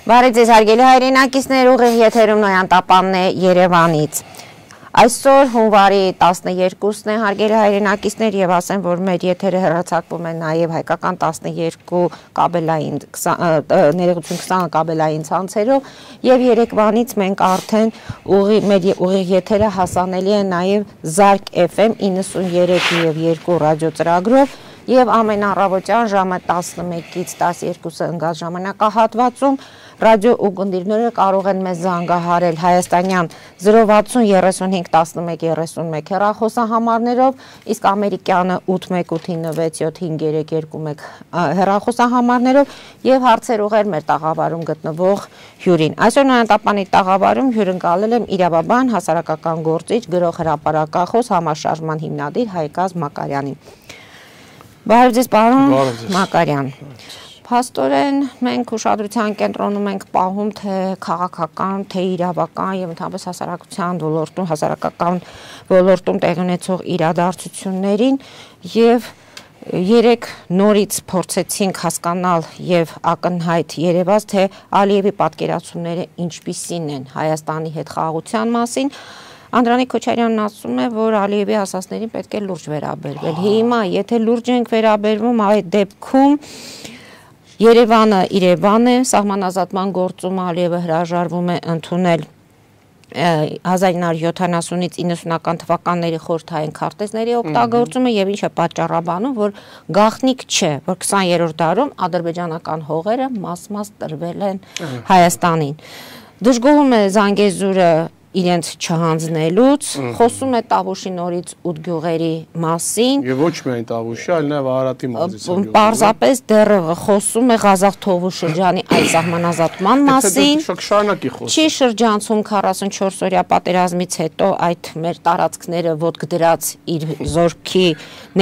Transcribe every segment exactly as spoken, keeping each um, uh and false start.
Բարև ձեզ հարգելի հայրենակիցներ, ուղիղ եթերում Նոյան Տապանն է Երևանից։ Այսօր հունվարի տասներկուսն է, հարգելի հայրենակիցներ, եւ ասեմ, որ մեր եթերը հեռարձակվում է նաև հայկական տասներկու կաբելային ներողություն քսան կաբելային ցանցերով եւ երեկվանից մենք արդեն ուղի մեր ուղիղ եթերը հասանելի է նաև Զարկ Էֆ Էմ իննսուններեք եւ երկու ռադիոծրագրով եւ ամեն առավոտյան ժամը տասնմեկից տասներկուսը ընկած ժամանակահատվածում ռադիո ուղդիրները կարող են մեզ զանգահարել հայաստանյան զրո վաթսուն երեսունհինգ տասնմեկ երեսունմեկ հեռախոսահամարներով, իսկ ամերիկյանը ութ մեկ ութ նվեց յոթ հինգ երեք երկու մեկ հեռախոսահամարներով եւ հարցեր ուղղել մեր տաղավարում գտնվող հյուրին։ Այսօր Նոյան Տապանի տաղավարում հյուրընկալել եմ իրավաբան, հասարակական գործիչ, գրող, հրապարակախոս, համաշարժման հիմնադիր Հայգազ Մակարյանին։ Բարև ձեզ, պարոն Մակարյան։ Փաստորեն մենք ուշադրության կենտրոնում ենք պահում թե քաղաքական, թե իրավական եւ ընդհանրապես հասարակության ոլորտում, հասարակական ոլորտում տեղի ունեցող իրադարձություններին եւ երեք նորից փորձեցինք հասկանալ եւ ակնհայտ երևաց թե Ալիևի պատկերացումները ինչպիսին են Հայաստանի հետ խաղաղության մասին։ Անդրանիկ Քոչարյանն ասում է, որ Ալիևի ասածներին պետք է լուրջ վերաբերվել։ Հիմա, եթե լուրջ ենք վերաբերվում, այդ դեպքում Երևանը Երևան է, սահմանազատման գործում Ալիևը հրաժարվում է ընդունել հազար ինը հարյուր յոթանասունից իննսունական թվականների խորհրդային քարտեզների օգտագործումը եւ ինչ է պատճառաբանում, որ գաղտնիք չէ, որ քսաներորդ դարում ադրբեջանական հողերը մաս-մաս տրվել են Հայաստանին։ Դժգոհում է Զանգեզուրը իրենց չհանձնելուց, խոսում է Տավուշի նորից ութ գյուղերի մասին։ Եվ ոչ միայն Տավուշի, այլ նաև Արարատի մարզի։ Պարզապես դեռ խոսում է Ղազախ-Թովու շրջանի այդ սահմանազատման մասին։ Չի շրջանցում քառասունչորս-օրյա պատերազմից հետո այդ մեր տարածքները ոտք դրած իր զորքի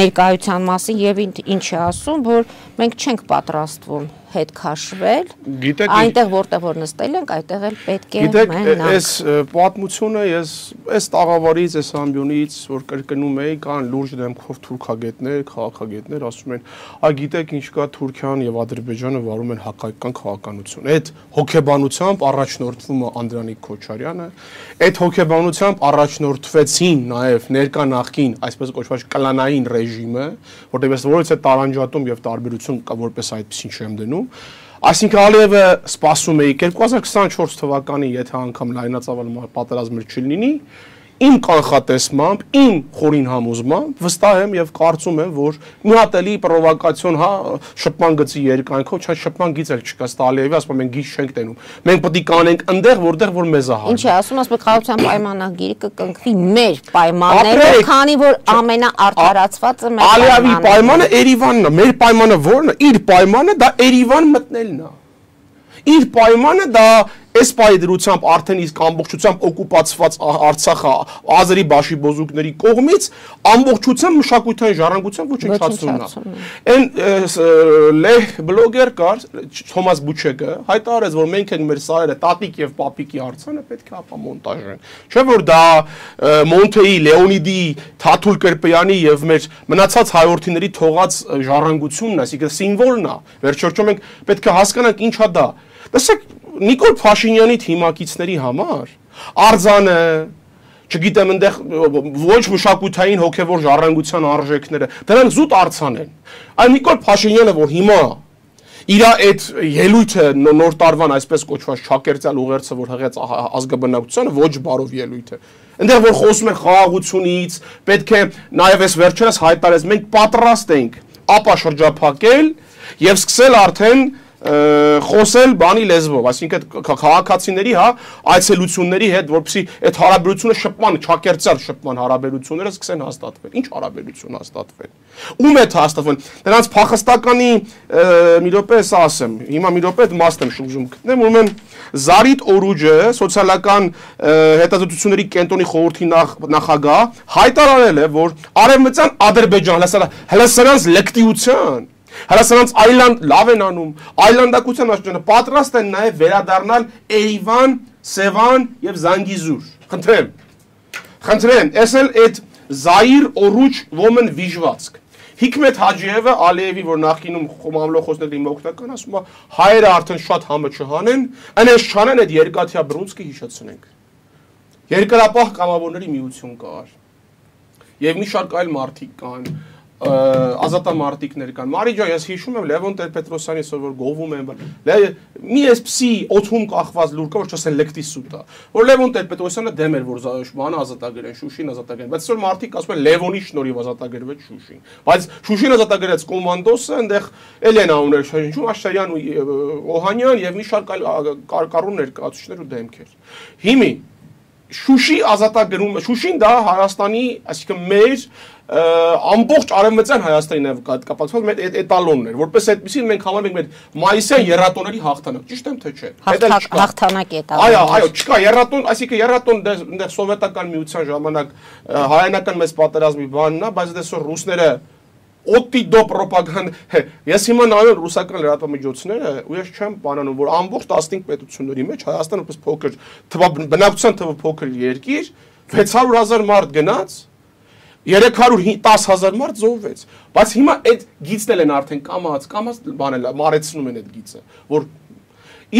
ներկայության մասին եւ ինչ է ասում, որ մենք չենք պատրաստվում հետ քաշվել, այնտեղ որտեղ որ նստել ենք, այդտեղ էլ պետք է մնանք։ Գիտեք, այս պատմությունը ես այս տաղավարից, այս ամբիոնից, որ կրկնում էի, կան լուրջ դեմքով թուրքագետներ, քաղաքագետներ, ասում են, «Այ գիտեք ինչ կա, Թուրքիան եւ Ադրբեջանը վարում են հակայական քաղաքականություն»։ Այդ հոգեբանությամբ առաջնորդվում է Անդրանիկ Քոչարյանը, այդ հոգեբանությամբ առաջնորդվեցին նաեւ ներկա նախկին, այսպես կոչված կլանային ռեժիմը, որտեղ ես որից է տարանջատում եւ տարբերություն կա, որպես այդպեսին չեմ դնում։ Այսինքն Ալիևը սպասում է երկու հազար քսաներորդ թվականին, եթե անգամ լայնածավալ պատերազմներ չլինի, իմ կանխատեսմամբ, իմ խորին համոզմամբ վստահ եմ եւ կարծում եմ, որ մի հատ էլի պրովոկացիոն, հա, շփման գծի երկայնքով, չէ՞ շփման գիծ էլ չկա, Ալիևի ասում մենք գիծ չենք տենում։ Մենք պետք է կանենք այնտեղ, որտեղ որ մեզ է հարմար։ Ինչ է ասում, ասում խաղաղության պայմանագիրը կկնքվի մեր պայմաններով, քանի որ ամենաարդարացվածը մեր Ալիևի պայմանը Երևանն է, մեր պայմանը ո՞րն է։ Իր պայմանը դա Երևան մտնելն է։ Իր պայմանը դա այս պայի դրությամբ արդեն իսկ ամբողջությամբ օկուպացված Արցախը ազերի բաշիբոզուկների կողմից ամբողջությամբ մշակութային ժառանգության ոչնչացումն է։ Այն լեհ բլոգեր կար Թոմաս Բուչեկը հայտարարեց, որ մենք ենք մեր սարերը տատիկ եւ պապիկի արձանը պետք է ապա մոնտաժեն։ Չէ՞ որ դա Մոնթեի, Լեոնիդի, Թաթուլ Կերպյանի եւ մեր մնացած հայորդիների թողած ժառանգությունն է, այսինքն սիմվոլն է։ Վերջերճում մենք պետք է հասկանանք ինչա դա։ Տեսեք Նիկոլ Փաշինյանի թիմակիցների համար արձանը, չգիտեմ, այնտեղ ոչ մշակութային հոգևոր ժառանգության արժեքները, դրանք զուտ արձան են։ Այլ Նիկոլ Փաշինյանը, որ հիմա իր այդ ելույթը նոր տարվան այսպես կոչված Շաքերտյալ ուղերձը, որ հղեց ազգաբնակությանը, ոչ բարով ելույթ է։ Այնտեղ որ խոսում են խաղաղությունից, պետք է նաև այս վերջերս հայտարարեց, մենք պատրաստ ենք ապա շրջափակել եւ սկսել արդեն խոսել բանի լեզվով, այսինքն քաղաքացիների, հա, այցելությունների հետ, որպեսզի այդ հարաբերությունը շփման, չակերտյալ շփման հարաբերությունները սկսեն հաստատվել։ Ինչ հարաբերություն հաստատվել։ Ում է հաստատվել։ Նրանց փախստականի մի րոպե էս ասեմ, հիմա մի րոպե այդ մասն եմ շուրջում գտնեմ, ուրեմն Զարիթ Օրուջը, սոցիալական հետազոտությունների կենտրոնի խորհրդի նախագահ, հայտարարել է, որ Արևմտյան Ադրբեջան, հələ սրանց լկտիության Հրասանց այլանդ լավ են անում, այլանդակության աշխարհը պատրաստ են նաև վերադառնալ Երևան, Սևան եւ Զանգիզուր։ Խնդրեմ։ Խնդրեմ, էս էլ այդ Զայիր Օրուջ ոմն վիժվածք։ Հիկմետ Հաջիևը Ալիևի, որ նախինում մամլոխոսների մօգնական, ասում է հայերը արդեն շատ համը չհանեն, այնպես չանեն այդ երկաթյա բռունցքը հիշեցնենք։ Երկրապահ կամավորների միություն կար։ Եվ մի շարք այլ մարդիկ կան, ազատամարտիկներ կան։ Մարի ջան, ես հիշում եմ Լևոն Տեր-Պետրոսյանի որ գովում են, մի էսպիսի օթում կախված լուր կա, որ չասեն լեկտի սուտ է։ Որ Լևոն Տեր-Պետրոսյանը դեմ էր, որ բանը ազատագրեն, Շուշին ազատագրեն, բայց այսօր մարդիկ ասում են Լևոնի շնորհիվ ազատագրվեց Շուշին։ Բայց Շուշին ազատագրեց կոմանդոսը, այնտեղ Էլենա ուներ շնչում, Աշտարյան ու Օհանյան եւ մի շարք այլ կառուն ներկայացուցիչներ ու դեմքեր։ Հիմի Շուշի ազատագրում, Շուշին դա Հայաստանի, այսինքն մեր ամբողջ արևմտյան Հայաստանի կապակցված մեր էտալոնն էր, որպես այդպեսին մենք համարում ենք մեր մայիսյան երաթոների հաղթանակ, ճիշտ եմ թե չէ։ Հաղթանակ է դա։ Այո, այո, չկա երաթոն, այսինքն երաթոն դեռ սովետական միության ժամանակ հայանական մեծ պատերազմի բանն է, բայց դեսօր ռուսները օտի դո ռոպագանդ, ես հիմա նայում ռուսական լրատվամիջոցները ու ես չեմ բանանում, որ ամբողջ տասնհինգ պետությունների մեջ Հայաստանը որպես փոքր բնակչության թվով փոքր երկիր վեց հարյուր հազար մարդ գնաց, երեք հարյուր տասը հազար մարդ զոհվեց, բայց հիմա այդ գիծն են արդեն կամած, կամած բանել, մարեցնում են այդ գիծը, որ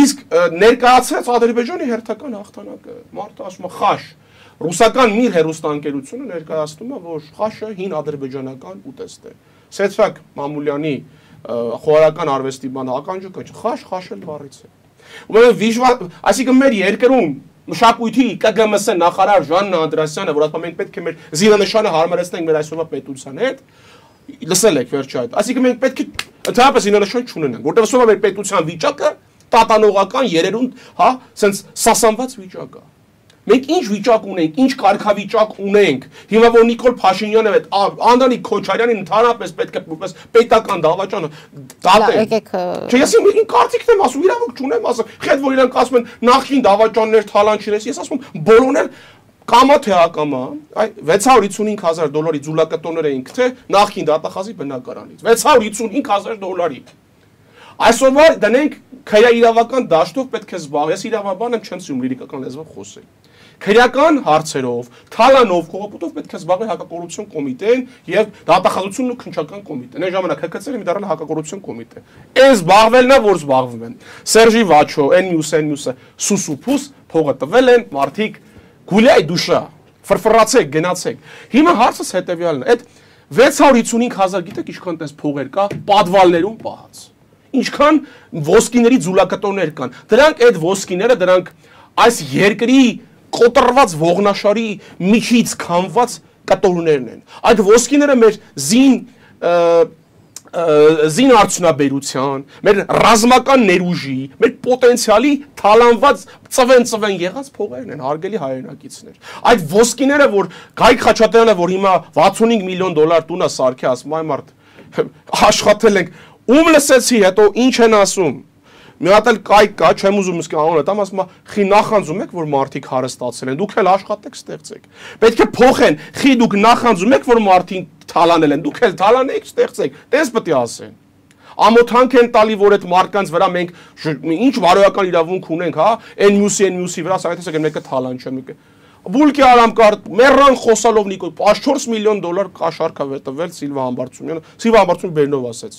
իսկ ներկայացրած Ադրբեջանի հերթական հաղթանակը, մարդը ասում է խաշ, ռուսական մի հերոստանգերությունը ներկայացնում է, որ խաշը հին ադրբեջանական ուտեստ է։ Սեթրակ Մամուլյանի խորհրդական արվեստի բան ականջը կա, խաշ խաշել բառից է։ Ուրեմն վիժուալ, այսինքն մեր երկրում մշակույթի Կ Գ M S նախարար Ժաննա Անդրասյանը, որ ասում է մենք պետք է մեր զինանշանը հարմարեցնենք մեր այսօրվա պետության հետ, լսել եք վերջը այդ։ Այսինքն մենք պետք է ընդհանրապես զինանշան չունենանք, որտեղ ասում է մեր պետության վիճակը տատանողական երերուն, հա, սենց սասանված վիճակ է։ Մենք ինչ վիճակ ունենք, ինչ կարգավիճակ ունենք։ Հիմա որ Նիկոլ Փաշինյանը այդ Անդրանիկ Քոչարյանին ընդհանրապես պետք է որպես պետական դավաճանը դատեն։ Չէ, ես իմ կարծիքն եմ ասում, իրավունք չունեմ ասում։ Խեդ որ իրանք ասում են նախին դավաճաններ թալանչիրես, ես ասում եմ բոլորն էլ կամա թե ակամա, այ վեց հարյուր հիսունհինգ հազար դոլարի ձուլակտորներ էինք թե նախին դատախազի բնակարանից։ վեց հարյուր հիսունհինգ հազար դոլարի։ Այսօրվա դնենք քրեա իրավական դաշտով պետք է զբաղ։ Ես իրավաբան եմ, չեմ սիրում լիրիկական լեզվով խոսել։ Քրեական հարցերով, թալանով, կողոպուտով պետք է զբաղվի հակակոռուպցիոն կոմիտեն եւ դատախազությունն ու քննչական կոմիտեն։ Այն ժամանակ Հ K C-ը մի դառնալ հակակոռուպցիոն կոմիտե։ Այն զբաղվելն է, որ զբաղվում են։ Սերժի Վաչո, N-News, N-News-ը սուսուփուս փողը տվել են, մարդիկ գուլյայ դուշա, ֆրֆրացեք, գնացեք։ Հիմա հարցս հետեւյալն է։ Այդ վեց հարյուր հիսունհինգ հազար գիտեք ինչքան տես փողեր կա պատվալներում պահած։ Ինչքան ոսկիների ձուլակտորներ կան։ Դրանք այդ ոսկիները, դրանք այս երկրի կոտրված ողնաշարի միջից քամված կտորներն են։ Այդ ոսկիները մեր զին զին արդյունաբերության, մեր ռազմական ներուժի, մեր պոտենցիալի թալանված ծվեն-ծվեն եղած փողերն են, հարգելի հայրենակիցներ։ Այդ ոսկիները, որ Գայք Խաչատրյանը, որ հիմա վաթսունհինգ միլիոն դոլար տունը սարքի, ասում այ մարդ աշխատել ենք, ում լսեցի, հետո ինչ են ասում։ Մի հատ էլ կայք կա, չեմ ուզում իսկի անունը տամ, ասում է, խի նախանձում եք, որ մարդիկ հարստացել են, դուք էլ աշխատեք, ստեղծեք։ Պետք է փոխեն, խի դուք նախանձում եք, որ մարդիկ թալանել են, դուք էլ թալանեք, ստեղծեք։ Տես պետք է ասեն։ Ամոթանք են տալի, որ այդ մարդկանց վրա մենք ինչ բարոյական իրավունք ունենք, հա, N-News-ի, N-News-ի վրա, սա տեսեք, մեկը թալանչեն, մեկը Բուլկի արամ կար, մեռան խոսալով Նիկոլ, չորս միլիոն դոլար կաշառք է տվել Սիլվա Համբարձումյանը, Սիլվա Համբարձումյանը Բերնով ասեց։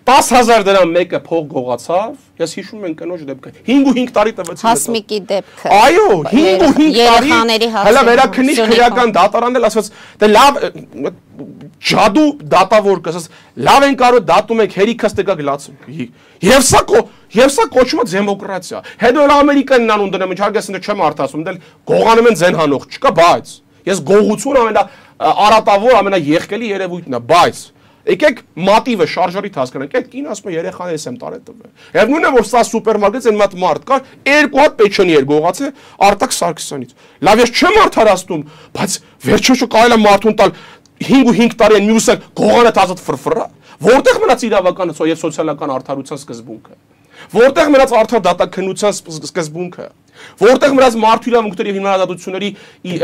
տասը հազար դրամ մեկը փող գողացավ, ես հիշում եմ կնոջ դեպքը։ հինգ ու հինգ տարի տվեցին։ Հասմիկի դեպքը։ Այո, հինգ ու հինգ տարի։ Հələ վերաքննիչ քրեական դատարանն էլ ասաց, դե լավ ջադու դատավոր կասած, լավ են կարող դատում եք հերիքս տեկակ լացում։ Եվ սա եւ սա կոչվում է դեմոկրատիա։ Հետո էլ Ամերիկան նան ունդնեմ, իհարկե չեմ արդասում, դել գողանում են ձեն հանող չկա, բայց ես գողություն ամենա արատավոր, ամենաեղկելի երևույթն է, բայց եկեք մատիվը շարժարիտ հասկանանք, այդ կին ասում է երեխաներս եմ տարել տվել։ Եվ նույնն է որ սա սուպերմարկետից այն մատ մարդ կար, երկու հատ պեչոնի էր գողացել Արտակ Սարգսյանից։ Լավ ես չեմ արդարացնում, բայց վերջը կարելի է մարդուն տալ հինգ ու հինգ տարի են մյուսը գողանը տազատ ֆրֆրա, որտեղ մնաց իրավական եւ սոցիալական արդարության սկզբունքը։ Որտեղ մնաց արդար դատաքննության սկզբունքը։ Որտեղ մնաց մարդու իրավունքների եւ հիմնադրությունների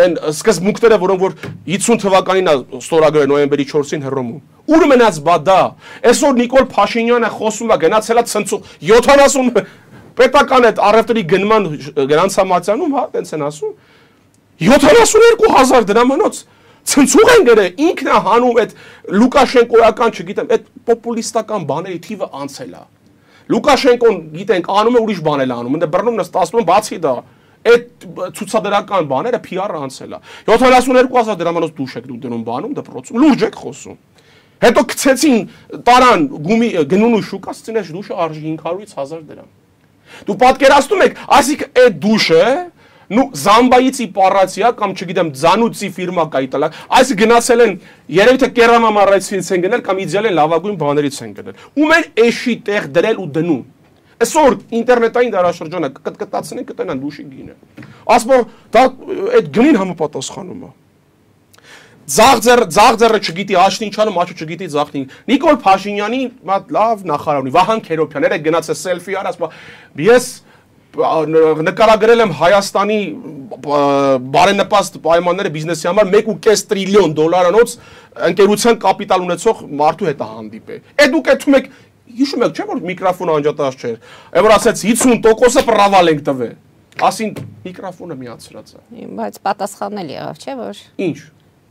այն սկզբունքները, որոնք որ հիսուն թվականին է ստորագրել նոյեմբերի չորսին Հռոմում։ Ուր մնաց բա դա։ Այսօր Նիկոլ Փաշինյանը խոսում է գնացել է ցնցու յոթանասուն պետական այդ առևտրի գնման գրանցամատյանում, հա, տենց են ասում յոթանասուն երկու հազար դրամանոց Ցնցուղ են գրել, ինքն է հանում այդ Լուկաշենկոյական, չգիտեմ, այդ պոպուլիստական բաների թիվը անցել է։ Լուկաշենկոն գիտենք անում է ուրիշ բանել անում, ընդ բռնում նստածում են բացի դա, այդ ցուցադրական բաները P R-ը անցել է։ յոթանասունհինգ հազար դրամանոց դուշ եք դու դնում բանում դպրոցում, լուրջ եք խոսում։ Հետո գցեցին տարան գումի գնունու շուկա, ասեցին այս դուշը արժի հինգ հարյուրից հազար դրամ։ Դու պատկերացնում եք, այսինքն այդ դուշը նու Զամբայիցի պարացիա կամ չգիտեմ Ձանուցի ֆիրմա կա իտալա, այս գնացել են երևի թե կերամամարացից են գնել կամ իդեալ են լավագույն բաներից են գնել։ Ում են էշի տեղ դրել ու դնում։ Այսօր ինտերնետային դարաշրջանը կկտկտացնեն կտենան դուշի գինը։ Ասում դա այդ գնին համապատասխանում է։ Ձաղձեր ձաղձերը չգիտի աշտին չանում, աշու չգիտի ձաղտին։ Նիկոլ Փաշինյանի մատ լավ նախարար ունի, Վահան Քերոբյաները գնացել սելֆի արա, ասում ես նկարագրել եմ Հայաստանի բարենպաստ պայմանները բիզնեսի համար մեկ ու կես տրիլիոն դոլարանոց ընկերության կապիտալ ունեցող մարդու հետ հանդիպել։ Է դուք այդում եք հիշում եք չէ՞ որ միկրոֆոնը անջատած չէր։ Է որ ասեց հիսուն տոկոսը պրավալ ենք տվել։ Ասին միկրոֆոնը միացրած է։ Բայց պատասխանել եղավ, չէ՞ որ։ Ինչ։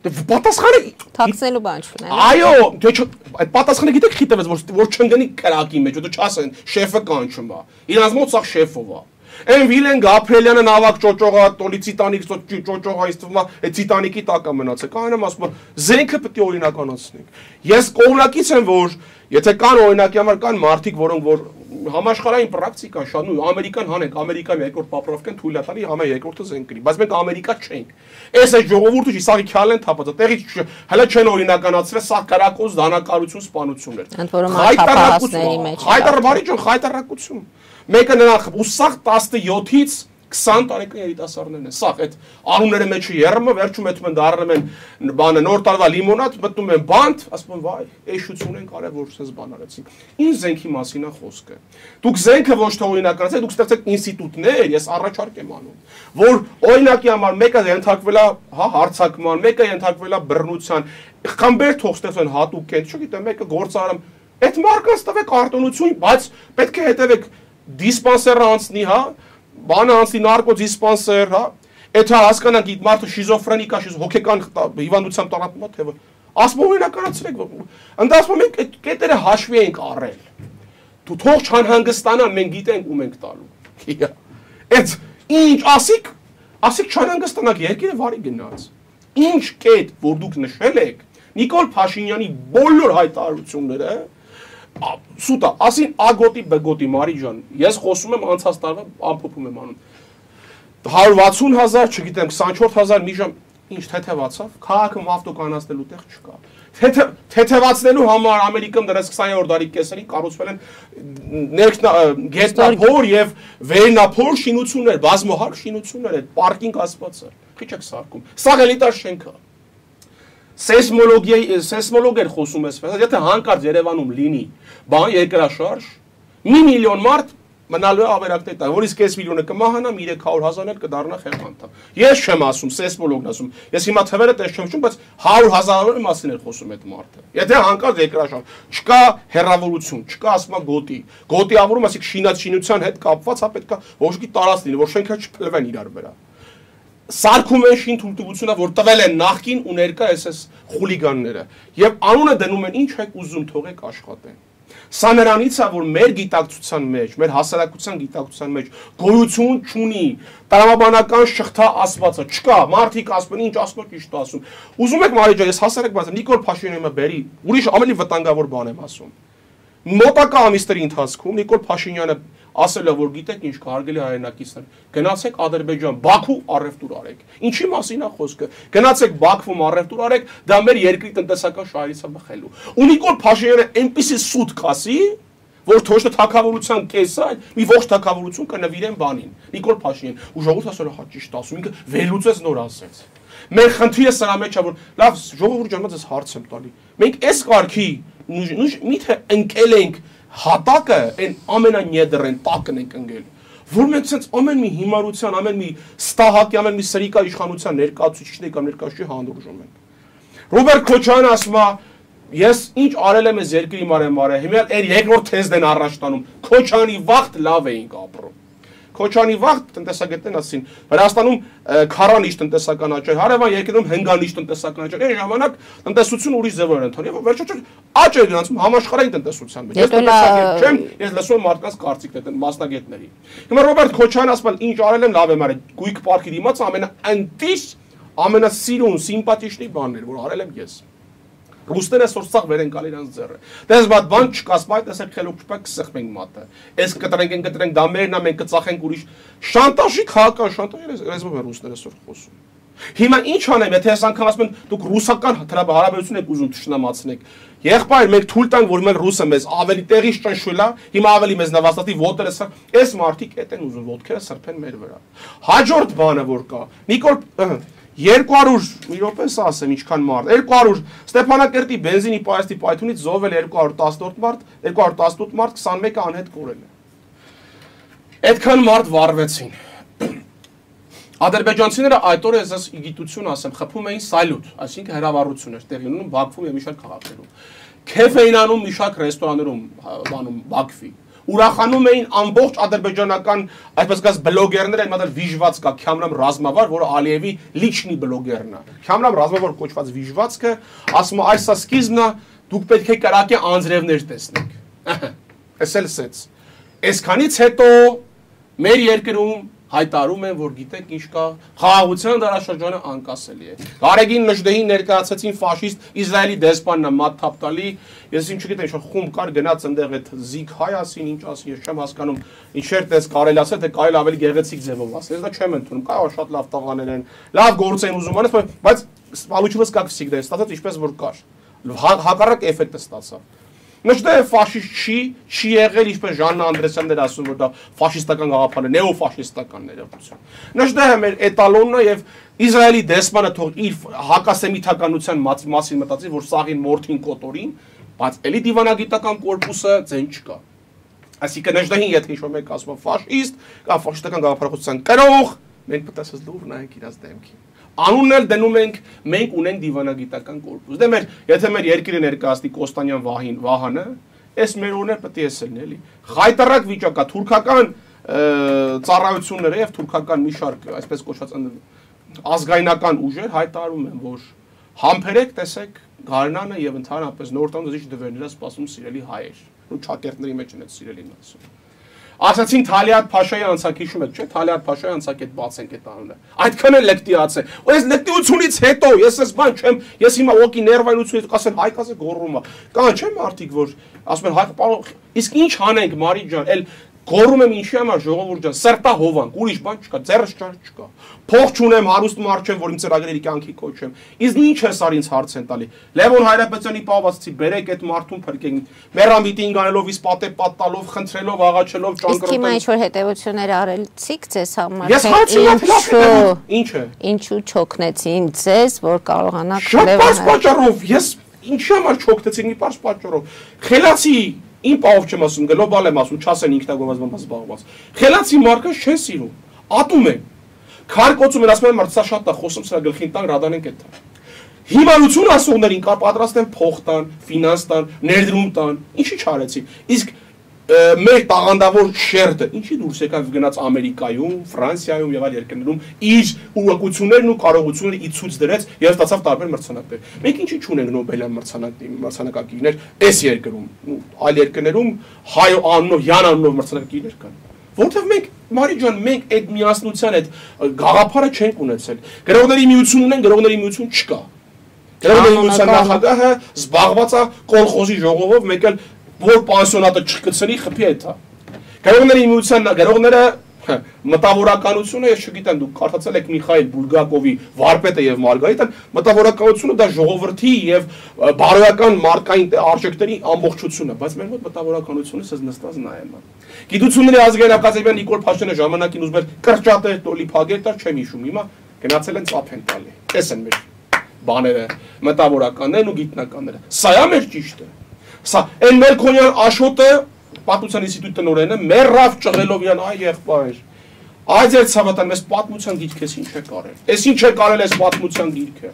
Պատասխանը թաքցնելու բան չունել։ Այո, դե այդ պատասխանը գիտեք խի տվեց որ որ չընկնի կրակի մեջ, դու չասեն շեֆը կանչում է։ Իրանց մոտ սա շեֆով է։ Այն Վիլեն Գաբրելյանը նավակ ճոճողա, տոլի Տիտանիկ ճոճողա իստվում է, այդ Տիտանիկի տակ է մնացել։ Կանեմ ասում եմ, զենքը պետք է օրինականացնենք։ Ես կողմնակից եմ, որ եթե կան օրինակի համար կան մարդիկ, որոնք որ համաշխարհային պրակտիկան շատ նույն ամերիկան հանենք, ամերիկան երկրորդ պապրովկեն թույլ է տալի, համա երկրորդը զենք կրի, բայց մենք ամերիկա չենք։ Այս այդ ժողովուրդը իսաղի քյալեն թափած, տեղի հələ չեն օրինականացրել, սա կարակոս դանակարություն սպանություն էր։ Ընդ որում անթափահասների մեջ։ Հայտար բարի ջան, հայտարարություն։ Մեկը նրան ու սաղ տասնյոթից քսան տարեկան երիտասարդներն են։ Սաղ այդ անունները մեջը երրումը վերջում էթում են դառնում են բանը նոր տարվա լիմոնադ, մտնում են բանտ, ասում են վայ, էշություն են կարել որ սենց բան արեցին։ Ինչ զենքի մասին է խոսքը։ Դուք զենքը ոչ թե օրինականացեք, դուք ստեղծեք ինստիտուտներ, ես առաջարկ եմ անում, որ օրինակի համար մեկը ենթարկվել է, հա, հարձակման, մեկը ենթարկվել է բռնության, խմբեր թող ստեղծեն հատուկ կենտ, չգիտեմ, մեկը գործարարում, այդ մարկած տվեք արտոնություն, բայց պետք է հետևեք դիսպանսերը անցնի, հա, բանը անցնի նարկո դիսպանսեր, հա, այդ հա հասկանանք իդ մարդը շիզոֆրենիկա, հոգեկան հիվանդությամբ տարապում է, թե ասում օրինականացրեք, ընդ ասում մենք այդ կետերը հաշվի ենք առել, դու թող չանհանգստանան, մենք գիտենք ում ենք տալու, այդ ինչ ասիք, ասիք չանհանգստանաք, երկիրը վարի գնաց, ինչ կետ, որ դուք նշել եք, Նիկոլ Փաշինյանի բոլոր հայտարարությունները Սուտա, ասին ագոտի բգոտի Մարի ջան, ես խոսում եմ անցած տարվա ամփոփում եմ անում։ հարյուր վաթսուն հազար, չգիտեմ, քսանչորս հազար մի ժամ ինչ թեթևացավ, քաղաքը ավտոկանացնելու տեղ չկա։ Թեթևացնելու համար Ամերիկան դրած քսաներորդ դարի կեսերին կառուցվել են գետնափոր եւ վերնափոր շինություններ, բազմահարկ շինություններ, այդ պարկինգ ասվածը։ Քիչ եք սարքում։ Սա էլիտար շենք է։ Սեյսմոլոգիայի սեյսմոլոգեր խոսում ես, եթե հանկարծ Երևանում լինի բան երկրաշարժ, մի միլիոն մարդ մնալու է ավերակներ տա, որից կես միլիոնը կմահանա, երեք հարյուր հազարներ կդառնա խեղանտա։ Ես չեմ ասում, սեյսմոլոգն ասում։ Ես հիմա թվերը տես չեմ շում, բայց հարյուր հազարների մասին էր խոսում այդ մարդը։ Եթե հանկարծ երկրաշարժ, չկա հերավորություն, չկա ասма գոտի։ Գոտի ավուրում, ասիկ շինած շինության հետ կապված, հա պետք է ոչ մի տարած լինի, որ շենքերը չփլվեն իրար վրա։ Սարքում են շին թույլտվությունը, որ տվել են նախքին ու ներկա էս խուլիգանները եւ անունը դնում են ինչ եք ուզում թողեք աշխատեն։ Սա նրանից է որ մեր գիտակցության մեջ, մեր հասարակության գիտակցության մեջ գոյություն չունի, տրամաբանական շղթա ասվածը չկա, մարդիկ ասում են ինչ ասնոք ճիշտ ասում։ Ուզում եք Մարի ջան, ես հասարակ բացեմ, Նիկոլ Փաշինյանը բերի, ուրիշ ավելի վտանգավոր բան եմ ասում։ Մոտակա ամիսների ընթացքում Նիկոլ Փաշինյանը ասել է որ գիտեք ինչ կհարգելի հայրենակիցներ գնացեք Ադրբեջան Բաքու առևտուր արեք ինչի մասին է խոսքը գնացեք Բաքվում առևտուր արեք դա մեր երկրի տնտեսական շահերից է բխելու ու Նիկոլ Փաշինյանը այնպիսի սուտ կասի որ թոշը թակավորության կեսը մի ողջ թակավորություն կնվիրեն բանին Նիկոլ Փաշինյան ու ժողովուրդը ասել է հա ճիշտ ասում ինքը վերլուծեց նոր ասեց մեր խնդիրը սրա մեջ է որ լավ ժողովուրդ ջան ես հարց եմ տալի մենք այս կարգի միթե ընկել ենք հատակը այն ամենանյեդրեն տակն ենք ընկել որ մենք ցենց ամեն մի հիմարության ամեն մի ստահակի ամեն մի սրիկա իշխանության ներկայացուցիչների կամ ներկայացուցիչի հանդուրժում ենք Ռոբերտ Քոչարյանը ասում է ես ինչ արել եմ այս երկրի մարեմ մարը հիմա այդ երկրորդ թեզն են առաջ տանում Քոչարյանի վաղտ լավ էինք ապրում Քոչանի վաղ տնտեսագետներն ասին, Վրաստանում քառանիշ տնտեսական աճ էր, հարևան երկրներում հնգանիշ տնտեսական աճ էր, այն ժամանակ տնտեսությունը ուրիշ ձևով էր ընթանում, եւ վերջոց աճ էր գնացում համաշխարհային տնտեսության մեջ։ Ես տնտեսագետ չեմ, ես լսում եմ մարդկանց կարծիքներ են մասնագետների։ Հիմա Ռոբերտ Քոչարյանը ասում է, ինչ արել եմ, լավ եմ արել, գույք պարկի դիմաց ամենաընտիշ, ամենասիրուն, սիմպաթիչնի բանն էր, որ արել եմ ես։ Ռուսները այսօր սաղ վեր են գալ իրանց ձեռը։ Դες բադ բան չկա, սպայտ տեսեք խելոք չպա կսխմենք մատը։ Այս կտրենք են կտրենք դա մերն է, մենք կծախենք ուրիշ։ Շանտաժի քաղաքական շանտաժ ռեզմով են ռուսները այսօր խոսում։ Հիմա ինչ անեմ, եթե այս անգամ ասում են դուք ռուսական հարաբերություն եք ուզում թշնամացնեք։ Եղբայր, մենք թույլ տանք, որ մենք ռուսը մեզ ավելի տեղից ճնշվել է, հիմա ավելի մեզ նվաստատի ոտերը սա, այս մարդիկ էդ են ուզում ոտքերը սրբեն մեր վրա։ Հաջորդ բանը որ կա, Նիկոլ երկու հարյուր մի րոպե ասեմ ինչքան մարդ երկու հարյուր Ստեփանակերտի բենզինի պայստի պայթունից զոհվել երկու հարյուր տասնութ մարդ երկու հարյուր տասնութ մարդ քսանմեկը անհետ կորել է այդքան մարդ վառվեցին ադրբեջանցիները այդ օրը ես գիտություն ասեմ խփում էին սալյուտ այսինքն հրավառություն էր տեղի ունենում Բաքվում եւ մի շարք քաղաքներում քեֆ էին անում մի շարք ռեստորաններում բանում Բաքվի ուրախանում էին ամբողջ ադրբեջանական այսպես ասած բլոգերներ այն մատալ վիժված կա Քյամրամ Ռազմավար, որը Ալիևի լիչնի բլոգերն է։ Քյամրամ Ռազմավար կոչված վիժվածքը ասում է այս է սկիզբն է, դուք պետք է կրակի անձրևներ տեսնեք։ Էս էլ սեց։ Այսքանից հետո մեր երկրում հայտարարում են, որ գիտեք ինչ կա, խաղաղության դարաշրջանը անկասելի է։ Գարեգին Նժդեհին ներկայացեցին ֆաշիստ Իսրայելի դեսպանն Մատ Թապտալի, ես ինչ չգիտեմ, ինչ խումբ կար գնաց այնտեղ այդ զիգ հայ ասին, ինչ ասին, ես չեմ հասկանում, ինչեր տես կարելի ասել, թե կարելի ավելի գեղեցիկ ձևով ասել, ես դա չեմ ընդունում, կարող շատ լավ տղաներ են, լավ գործ են ուզում անես, բայց получилось как всегда, ստացած ինչպես որ կար։ Հակառակ էֆեկտը ստացավ։ Նշտե ֆաշիստ չի, չի եղել ինչպես Ժաննա Անդրեսյանն էր ասում, որ դա ֆաշիստական գաղափար է, նեոֆաշիստական ներողություն։ Նշտե մեր էտալոնն է եւ Իսրայելի դեսպանը թող իր հակասեմիթականության մասին մտածի, որ սաղին մորթին կոտորին, բայց էլի դիվանագիտական կորպուսը ձեն չկա։ Այսինքն նշտեին եթե ինչ-որ մեկ ասում ֆաշիստ, կամ ֆաշիստական գաղափարախոսության կրող, մենք պետք է լուր նայենք իրաց դեմքին։ Անունն էլ դնում ենք, մենք ունենք դիվանագիտական կորպուս։ Դե մեր, եթե մեր երկիրը ներկայացնի Կոստանյան Վահին, Վահանը, այս մեր օրներ պետք է էսելն էլի։ Խայտարակ վիճակա թուրքական ծառայությունները եւ թուրքական մի շարք, այսպես կոչված ազգայնական ուժեր հայտարարում են, որ համբերեք, տեսեք, Գարնանը եւ ընդհանրապես նոր տան դժիշտ դվերները սպասում սիրելի հայեր։ Ու չակերտների մեջ են այդ սիրելին ասում։ Ասացին Թալիատ Փաշայի անցակ հիշում եք, չէ՞, Թալիատ Փաշայի անցակ այդ բացենք այդ անունը։ Այդքան էլ լեկտիաց է։ Ու այս լեկտիությունից հետո ես ես բան չեմ, ես հիմա օկի ներվայնությունից կասեմ հայկազը գոռում է։ Կան չէ՞ մարդիկ, որ ասում են հայ պարոն, իսկ ինչ անենք Մարի ջան, էլ գոռում եմ ինչի համար ժողովուրդ ջան, սրտա հովանք, ուրիշ բան չկա, ձեռս ճար չկա։ Փող չունեմ, հարուստ մարդ չեմ, որ իմ ծրագրերի կյանքի կոչեմ։ Իսկ ինչ ես արի ինձ հարց են տալի։ Լևոն Հայրապետյանի պահվածի բերեք այդ մարդուն փրկենք։ Մերամիտինգ անելով, իսկ պատե պատտալով, խնդրելով, աղաչելով, ճանկրոտելով։ Իսկ հիմա ինչ որ հետևություններ արելցիք ձեզ համար։ Ես հարցնում ինչ է։ Ինչու չօգնեցին ձեզ, որ կարողանաք Լևոն պատճառով, ես ինչի համար չօգնեցին մի պարզ պատճառով։ Խելացի Իմ պահով չեմ ասում, գլոբալ եմ ասում, չասեն ինքնագովազդված բանված զբաղված։ Խելացի մարդկանց չեն սիրում, ատում են։ Քարկոցում են, ասում են, մարդ սա շատ է, խոսում սրա գլխին տան, ռադանենք այդ տան։ Հիմարություն ասողներին կա պատրաստ են փող տան, ֆինանս տան, ներդրում տան, ինչի չարեցին։ Իսկ մեր տաղանդավոր շերտը, ինչի դուրս եկավ գնաց Ամերիկայում, Ֆրանսիայում եւ այլ երկրներում իր ուղղություններն ու կարողությունները ի ցույց դրեց եւ ստացավ տարբեր մրցանակներ։ Մենք ինչի չունենք Նոբելյան մրցանակակիրներ այս երկրում, այլ երկրներում հայ անունով, Յան անունով մրցանակակիրներ կան։ Որտեւ մենք Մարի ջան, մենք այդ միասնության այդ գաղափարը չենք ունեցել։ Գրողների միություն ունեն, գրողների միություն չկա։ Գրողների միության նախագահը զբաղված է կոլխոզի ժողովով, մեկ էլ որ պանսիոնատը չկցնի խփի այդ է։ Գրողների միության գրողները մտավորականությունը, ես չգիտեմ, դուք կարդացել եք Միխայել Բուլգակովի Վարպետը եւ Մարգարիտան, մտավորականությունը դա ժողովրդի եւ բարոյական մարդկային արժեքների ամբողջությունն է, բայց մեր մոտ մտավորականությունը սենց նստած նայում է։ Գիտությունների ազգային ակադեմիան Նիկոլ Փաշինյանը ժամանակին ուզում էր կրճատել, տոլի փագել, դա չեմ հիշում, հիմա գնացել են ծափ են տալի։ Էս են մեր բաները, մտավորականներն ու գիտնականները։ Սա է մեր ճիշտը։ Սա այն Մելքոնյան Աշոտը պատմության ինստիտուտի տնօրենը մեռավ ճղելով իրան այ եղբայր։ Այդ ձեր ցավատան մեզ պատմության գիրքես ինչ է կարել։ Էս ինչ է կարել էս պատմության գիրքը։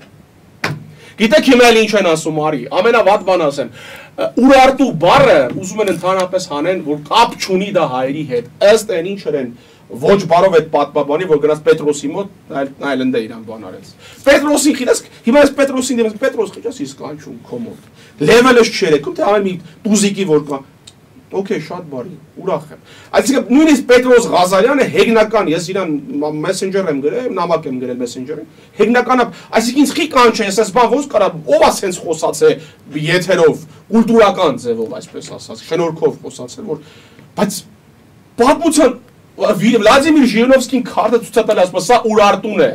Գիտեք հիմա էլ ինչ են ասում արի, ամենավատ բան ասեմ։ Ուրարտու բառը ուզում են ընդհանրապես հանեն, որ կապ չունի դա հայերի հետ։ Ըստ այն ինչ են ոչ բարով այդ պատմաբանի, որ գնաց Պետրոսի մոտ, նայել ընդ է իրան բան արեց։ Պետրոսին խիլես, հիմա այս Պետրոսին դեպս Պետրոս խիճաս իսկ անչում կոմոդ։ Լևելը չերեքում, թե ամեն մի տուզիկի որ կա։ Okay, շատ բարի, ուրախ եմ։ Այսինքն նույնիսկ Պետրոս Ղազարյանը հեգնական, ես իրան Messenger եմ գրել, նամակ եմ գրել Messenger-ին։ Հեգնականը, այսինքն ինձ խի կանչ է, ես այս բան ոնց կարա, ով է սենց խոսացե եթերով, կուլտուրական ձևով, այսպես ասած, շնորհքով խոսացել, որ բայց պատմության Վլադիմիր Ժիրինովսկին քարտը ցույց տալ ասում, սա Ուրարտուն է։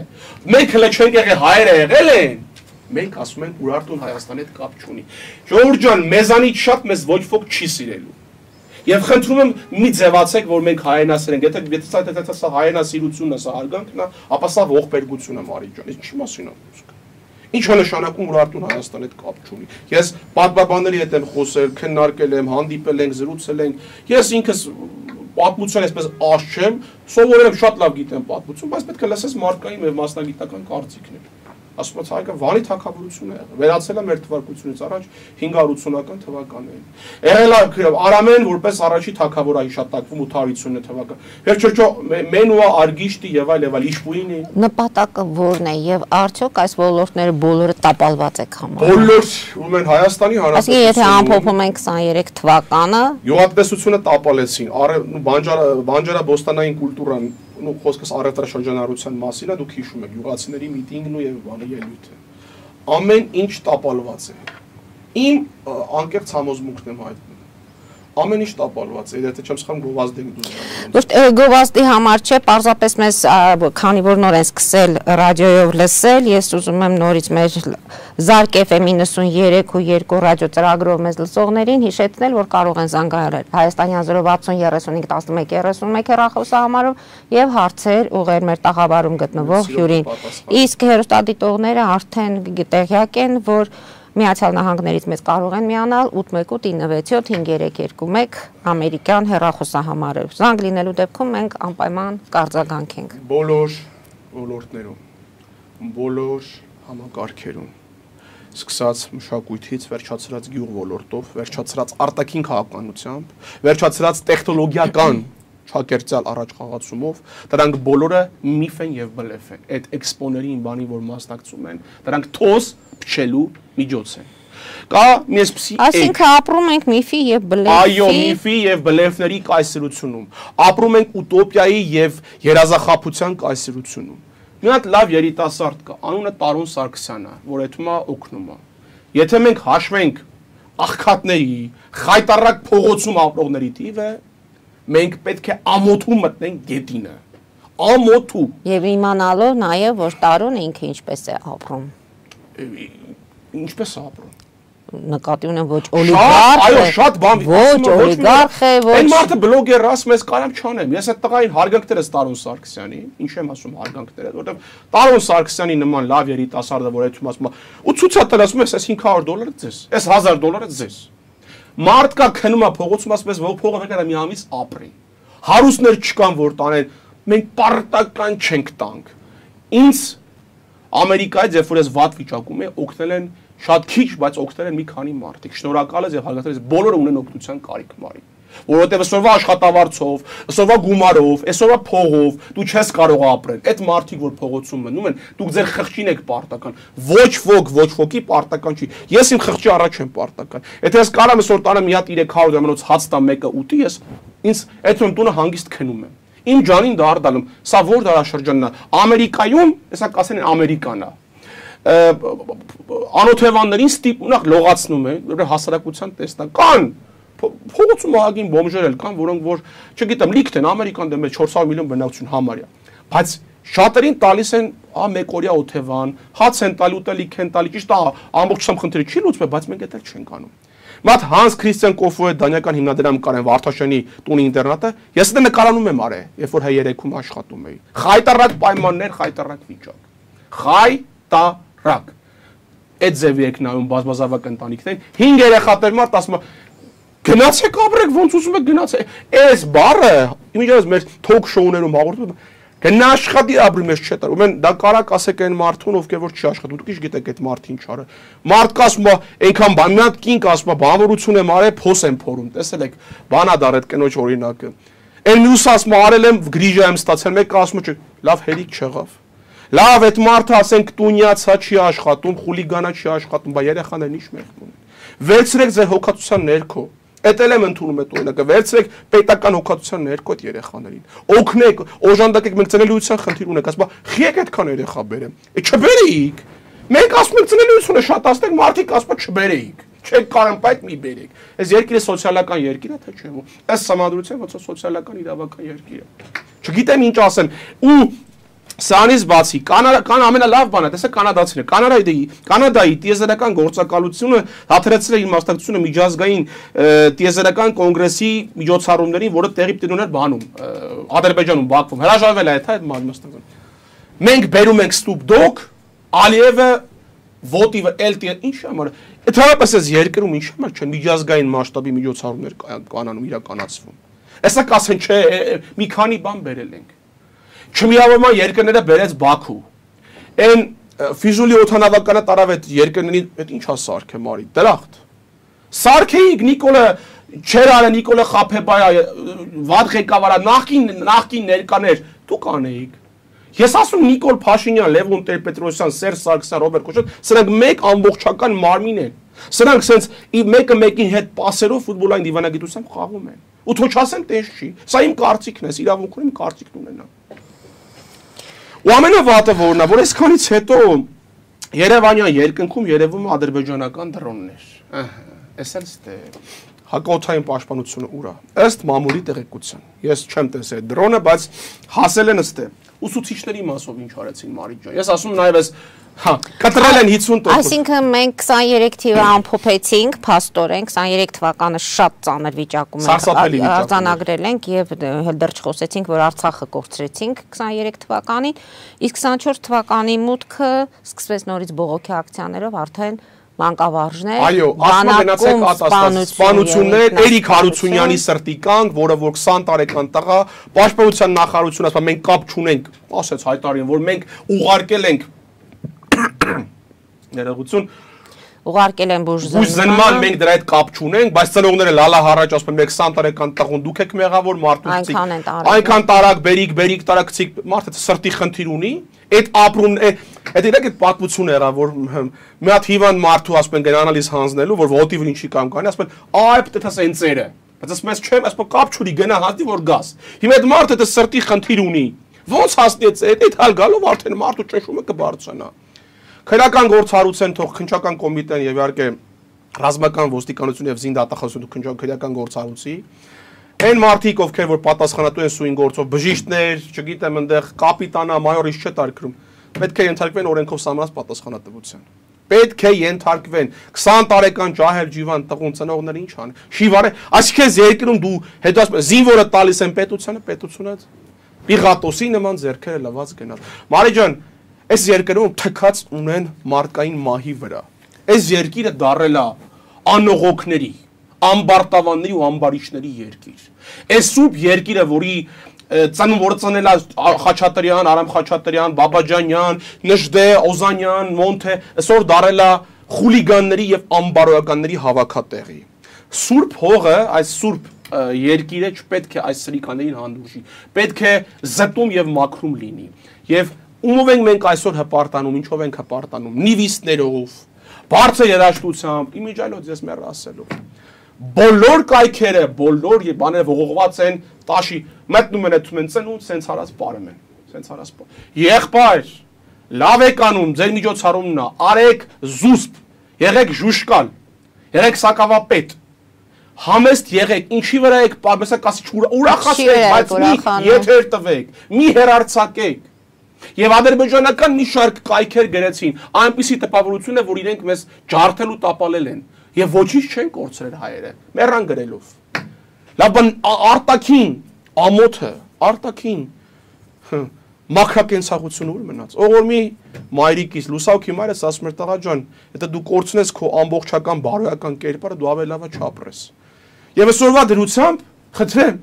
Մենք հենց չենք եղել հայերը եղել են։ Մենք ասում ենք Ուրարտուն Հայաստանի հետ կապ չունի։ Ժողովուրդ ջան, մեզանից շատ մեզ ոչ ոք չի սիրելու։ Եվ խնդրում եմ մի ձևացեք, որ մենք հայրենասեր ենք, եթե եթե եթե սա հայրենասիրությունն է, սա հարգանքն է, ապա սա ողբերգություն է, Մարի ջան, ինչի մասին է խոսքը։ Ինչ է նշանակում Ուրարտուն Հայաստանի հետ կապ չունի։ Ես պատմաբանների հետ եմ խոսել, քննարկել եմ, հանդիպել ենք, զրուցել ենք։ Ես ինքս պատմություն այսպես աշ չեմ, սովորել եմ շատ լավ գիտեմ պատմություն, բայց պետք է լսես մարդկային եւ մասնագիտական կարծիքներ։ Ասում եմ, հայկը Վանի թագավորություն է եղել, վերացել է մեր թվարկությունից առաջ հինգ հարյուր ութ թվականներին։ Եղել է Արամեն որպես առաջի թագավոր է հիշատակվում ութ հարյուր ութ թվական։ Վերջերջո Մենուա Արգիշտի եւ այլ եւ այլ Իշպուինի նպատակը ո՞րն է եւ արդյոք այս ոլորտները բոլորը տապալված եք համարում։ Բոլոր ում են Հայաստանի Հանրապետություն։ Այսինքն եթե ամփոփում ենք քսաներեք թվականը, գյուղատնտեսությունը տապալեցին, բանջարա բանջարաբոստանային կուլտուրան ու խոսքս առևտրաշրջանառության մասին է, դուք հիշում եք յուղացիների միտինգն ու եւ բանը ելույթը։ Ամեն ինչ տապալված է։ Իմ անկեղծ համոզմունքն եմ հայտնում։ Ամեն ինչ տապալված է, եթե չեմ սխալվում գովազդի դուրս։ Ոչ գովազդի համար չէ, պարզապես մեզ քանի որ նոր են սկսել ռադիոյով լսել, ես ուզում եմ նորից մեր Զարկ Էֆ Էմ նինety-three ու two ռադիո ծրագրով մեզ լսողներին հիշեցնել, որ կարող են զանգահարել հայաստանյան zero six zero thirty-five eleven thirty-one հեռախոսահամարով եւ հարցեր ուղղել մեր տաղավարում գտնվող հյուրին։ Իսկ հեռուստադիտողները արդեն տեղյակ են, որ Միացյալ Նահանգներից մեզ կարող են միանալ eight one eight nine seven seven five three two one ամերիկյան հեռախոսահամարով։ Զանգ լինելու դեպքում մենք անպայման կարձագանքենք։ Բոլոր ոլորտներում, բոլոր համակարգերում, սկսած մշակույթից, վերջացրած գյուղ ոլորտով, վերջացրած արտաքին քաղաքականությամբ, վերջացրած տեխնոլոգիական չակերտյալ առաջ խաղացումով, դրանք բոլորը միֆ են եւ բլեֆ են։ Այդ էքսպոներին բանի որ մասնակցում են, դրանք թոս փչելու միջոց են։ Կա մի այսպիսի Այսինքն ապրում ենք միֆի եւ բլեֆի։ Այո, միֆի եւ բլեֆների կայսրությունում։ Ապրում ենք ուտոպիայի եւ երազախաբության կայսրությունում։ Մի հատ լավ երիտասարդ կա, անունը Տարոն Սարգսյանն է, որ այդ հիմա օգնում է։ Եթե մենք հաշվենք աղքատների, խայտարակ փողոցում ապրողների թիվը, մենք պետք է ամոթու մտնենք գետինը։ Ամոթու։ Եվ իմանալով նաև որ Տարոնը ինքը ինչպես է ապրում։ Ինչպես է ապրում։ Նկատի ունեմ ոչ օլիգարխ, այո, շատ բան ոչ օլիգարխ է, ոչ Այն մարդը բլոգեր ասում ես կարամ չանեմ։ Ես այդ տղային հարգանքներս Տարոն Սարգսյանի, ինչ եմ ասում հարգանքները, որովհետև Տարոն Սարգսյանի նման լավ երիտասարդը, որ այդում ասում է, ու ցույց տալ ասում ես, այս five hundred դոլարը ձեզ, այս one thousand դոլարը ձեզ։ Մարդ կա քնում է փողոցում ասում ես, որ փողը եկա մի ամիս ապրի։ Հարուստներ չկան որ տանեն, մենք պարտական չենք տանք։ Ինձ Ամերիկայից երբ որ ես վատ վիճակում եմ, օգնել են շատ քիչ, բայց օգնել են մի քանի մարդիկ։ Շնորհակալ եմ եւ հարգանքներ, բոլորը ունեն օգնության կարիք մարի։ Որովհետեւ այսօրվա աշխատավարձով, այսօրվա գումարով, այսօրվա փողով դու չես կարող ապրել։ Այդ մարդիկ որ փողոցում մնում են, դուք ձեր խղճին եք պարտական։ Ոչ ոք, ոչ ոքի պարտական չի։ Ես իմ խղճի առաջ եմ պարտական։ Եթե ես կարամ այսօր տանը մի հատ three hundred դրամանոց հաց տամ մեկը ուտի, ես ինձ այդ տունը հանգիստ քնում եմ։ Իմ ջանին դարձալում, սա որ դարաշրջանն է։ Ամերիկայում, հեսա կասեն Ամերիկան է։ Անօթևաններին ստիպունակ լողացնում են, որ հասարակության տեսնան։ Կան փողոցում ահագին բոմժեր էլ կան, որոնք որ, չգիտեմ, լիքտ են Ամերիկան դեմ four hundred միլիոն բնակչություն համարյա։ Բայց շատերին տալիս են ա մեկօրյա օթևան, հաց են տալի, ուտելիք են տալի, ճիշտ է, ամբողջությամբ խնդիրը չի լուծվում, բայց մենք դա չենք անում։ Մատ Հանս Քրիստիան Կոֆոյի դանյական հիմնադրամ կար են Վարդաշյանի տունի ինտերնատը, ես դա նկարանում եմ արել, երբ որ հայերեքում աշխատում էի։ Խայտարակ պայմաններ, խայտարակ վիճակ։ Խայտարակ։ Այդ ձևի եք նայում բազմազավակ ընտանիքներին, հինգ երեխա տեր մարդ ասում է գնացեք ապրեք, ոնց ուզում եք գնացեք։ Այս բառը իմիջիայլոց մեր թոք շոուներում հաղորդում գնա աշխատի ապրի մեզ չէ տար։ Ուրեմն դա կարակ ասեք այն մարդուն, ովքեր որ չի աշխատում։ Դուք ինչ գիտեք այդ մարդը ինչ արը։ Մարդ կասում է, այնքան բան, մի հատ կին կասում է, բանվորություն եմ արել, փոս եմ փորում։ Տեսել եք, բանադար այդ կնոջ օրինակը։ Այն մյուս ասում արել եմ գրիժա եմ ստացել, մեկը ասում է լավ հերիք չեղավ։ Լավ այդ մարդը ասենք տունյացա չի աշխատում, խուլիգանա չի աշխատում, բա երեխաներն ինչ մեղք ունեն։ Վերցրեք ձեր հոգացության ներքո։ Այդ էլ եմ ընդունում այդ օրինակը, վերցրեք պետական հոգացության ներքո այդ երեխաներին։ Օգնեք, օժանդակեք, մենք ծնելիության խնդիր ունենք, ասում բա խիեք այդքան երեխա բերեմ։ Է չբերեիք։ Մենք ասում ենք ծնելիությունը շատացնենք, մարդիկ ասում են չբերեիք։ Չեք կարում պայթ մի բերեք։ Այս երկիրը սոցիալական երկիր է, թե չէ։ Այս համադրության ոնց է սոցիալական իրավական երկիր է։ Չգիտեմ ինչ ասեմ։ Ու Սրանից բացի կան ամենալավ բանը, տեսեք կանադացիները, Կանադայի, Կանադայի տիեզերական գործակալությունը հաթրեցրել է իր մասնակցությունը միջազգային տիեզերական կոնգրեսի միջոցառումներին, որը տեղի պիտի ունենար բանում, Ադրբեջանում, Բաքվում, հրաժարվել է այդ մասնակցությունը։ Մենք բերում ենք Ստուպդոկ, Ալիևը, Վոտիվը, Էլտիը, ինչ համար, ընդհանրապես այս երկրում ինչ համար չեն միջազգային մասշտաբի միջոցառումներ կանանում իրականացվում։ Հեսա կասեն, չէ, մի քանի բան բերել ենք։ Չմիավորման երկրները բերեց Բաքու։ Այն Ֆիզուլի օդանավականը տարավ այդ երկրներին, այդ ինչա սարքը մարի, դրախտ։ Սարքեիք Նիկոլը Չերարը, Նիկոլը Խափեբայը, վատ ղեկավարա, նախկին նախկին ներկաներ, դուք անեիք։ Ես ասում Նիկոլ Փաշինյան, Լևոն Տեր-Պետրոսյան, Սերժ Սարգսյան, Ռոբերտ Քոչարյան, սրանք մեկ ամբողջական մարմին են։ Սրանք sense մեկը մեկին հետ պասերով ֆուտբոլային դիվանագիտությամբ խաղում են։ Ու թող չասեն տես չի։ Սա իմ կարծիքն է, իրավունք ունեմ կարծիքն ունենամ։ Ու ամենավատը որն է, որ այսքանից հետո Երևանյան երկնքում երևում է ադրբեջանական դրոններ։ Ահա, էս էլ ստե հակաօդային պաշտպանությունը ուր է։ Ըստ մամուլի տեղեկության։ Ես չեմ տեսել այդ դրոնը, բայց հասել են ըստե։ Ուսուցիչների մասով ինչ արեցին Մարիկ ջան։ Ես ասում նաև այս հա, կտրել են հիսուն տոկոս։ Այսինքն մենք քսաներեք թիվը ամփոփեցինք, փաստորեն քսաներեք թվականը շատ ծանր վիճակում ենք արձանագրել ենք եւ դեռ չխոսեցինք, որ Արցախը կորցրեցինք քսաներեք թվականին, իսկ քսանչորս թվականի մուտքը սկսվեց նորից բողոքի ակցիաներով արդեն մանկավարժներ, այո, ասում գնացեք ատաստած, սպանություններ, Էրիկ Հարությունյանի սրտի կանգ, որը որ քսան տարեկան տղա, պաշտպանության նախարարությունը ասում մենք կապ չունենք, ասեց հայտարարին, որ մենք ուղարկել ենք ներողություն ուղարկել են բուժզնման, մենք դրա հետ կապ չունենք, բայց ծնողները լալա հառաջ ասում են մենք քսան տարեկան տղուն դուք եք մեղավոր մարդուց, այնքան տարակ բերիկ, բերիկ տարակցիկ, մարդը սրտի խնդիր ունի, այդ ապրում, այդ իրեք այդ պատմությունը եղավ, որ մի հատ հիվանդ մարդու ասում են գնանալիս հանձնելու, որ ոտիվն ինչի կամ կանի, ասում են այ պետք է սենցերը, բայց ասում ես չեմ, ասում կապ չունի, գնա հաստի որ գաս։ Հիմա այդ մարդը դա սրտի խնդիր ունի, ոնց հասնեց այդ այդ հալ գալով արդեն մարդու ճնշումը կբարձրանա։ Քրական գործառույթեն թող քնչական կոմիտեն եւ իհարկե ռազմական ոստիկանություն եւ զինդատախազությունը քնչական քրական գործառույթի այն մարդիկ ովքեր որ պատասխանատու են սույն գործով բժիշկներ, չգիտեմ այնտեղ կապիտանա, մայորից չէ տարկրում, պետք է ենթարկվեն օրենքով սահմանած պատասխանատվության։ Պետք է ենթարկվեն քսան տարեկան ջահել ջիվան տղուն ծնողները ինչ ան։ Շիվարը, այսինքն երկրում դու հետո ասում զինվորը տալիս են պետությանը, պետությունը Պիղատոսի նման ձեռքերը լված գնալ։ Մարի ջան, այս երկրում թքած ունեն մարդկային մահի վրա։ Այս երկիրը դարել է անողոքների, ամբարտավանների ու ամբարիչների երկիր։ Այս սուրբ երկիրը, որի ծնուն որը ծնել է Խաչատրյան, Արամ Խաչատրյան, Բաբաջանյան, Նժդե, Օզանյան, Մոնթե, այսօր դարել է խուլիգանների եւ ամբարոյականների հավաքատեղի։ Սուրբ հողը, այս սուրբ երկիրը չպետք է այս սրիկաներին հանդուրժի, պետք է զտում եւ մաքրում լինի։ Եվ ումով ենք մենք այսօր հպարտանում, ինչով ենք հպարտանում, նիվիստներով, բարձր երաժշտությամբ, իմիջայլոց ես մեռ ասելով։ Բոլոր կայքերը, բոլոր բաները ողողված են տաշի, մտնում են այդում են ծնունդ, սենց հարած պարում են, սենց հարած պար։ Եղբայր, լավ եք անում, ձեր միջոցառումն է, արեք զուսպ, եղեք ժուշկալ, եղեք սակավապետ, համեստ եղեք, ինչի վրա եք պարմեսա կասի ուրախացեք, բայց մի եթեր տվեք, մի հերարցակեք։ Եվ ադրբեջանական մի շարք կայքեր գրեցին, այնպիսի տպավորություն է, որ իրենք մեզ ջարդել ու տապալել են, եւ ոչինչ չեն կորցրել հայերը, մեռան գրելով։ Լավ բան արտաքին, ամոթը, արտաքին մաքրակենցաղությունը ուր մնաց։ Ողոր մի մայրիկից լուսავքի մայրս ասում էր տղա ջան, եթե դու կորցնես քո ամբողջական բարոյական կերպարը, դու ավելի լավը չապրես։ Եվ այսօրվա դրությամբ խնդրեմ,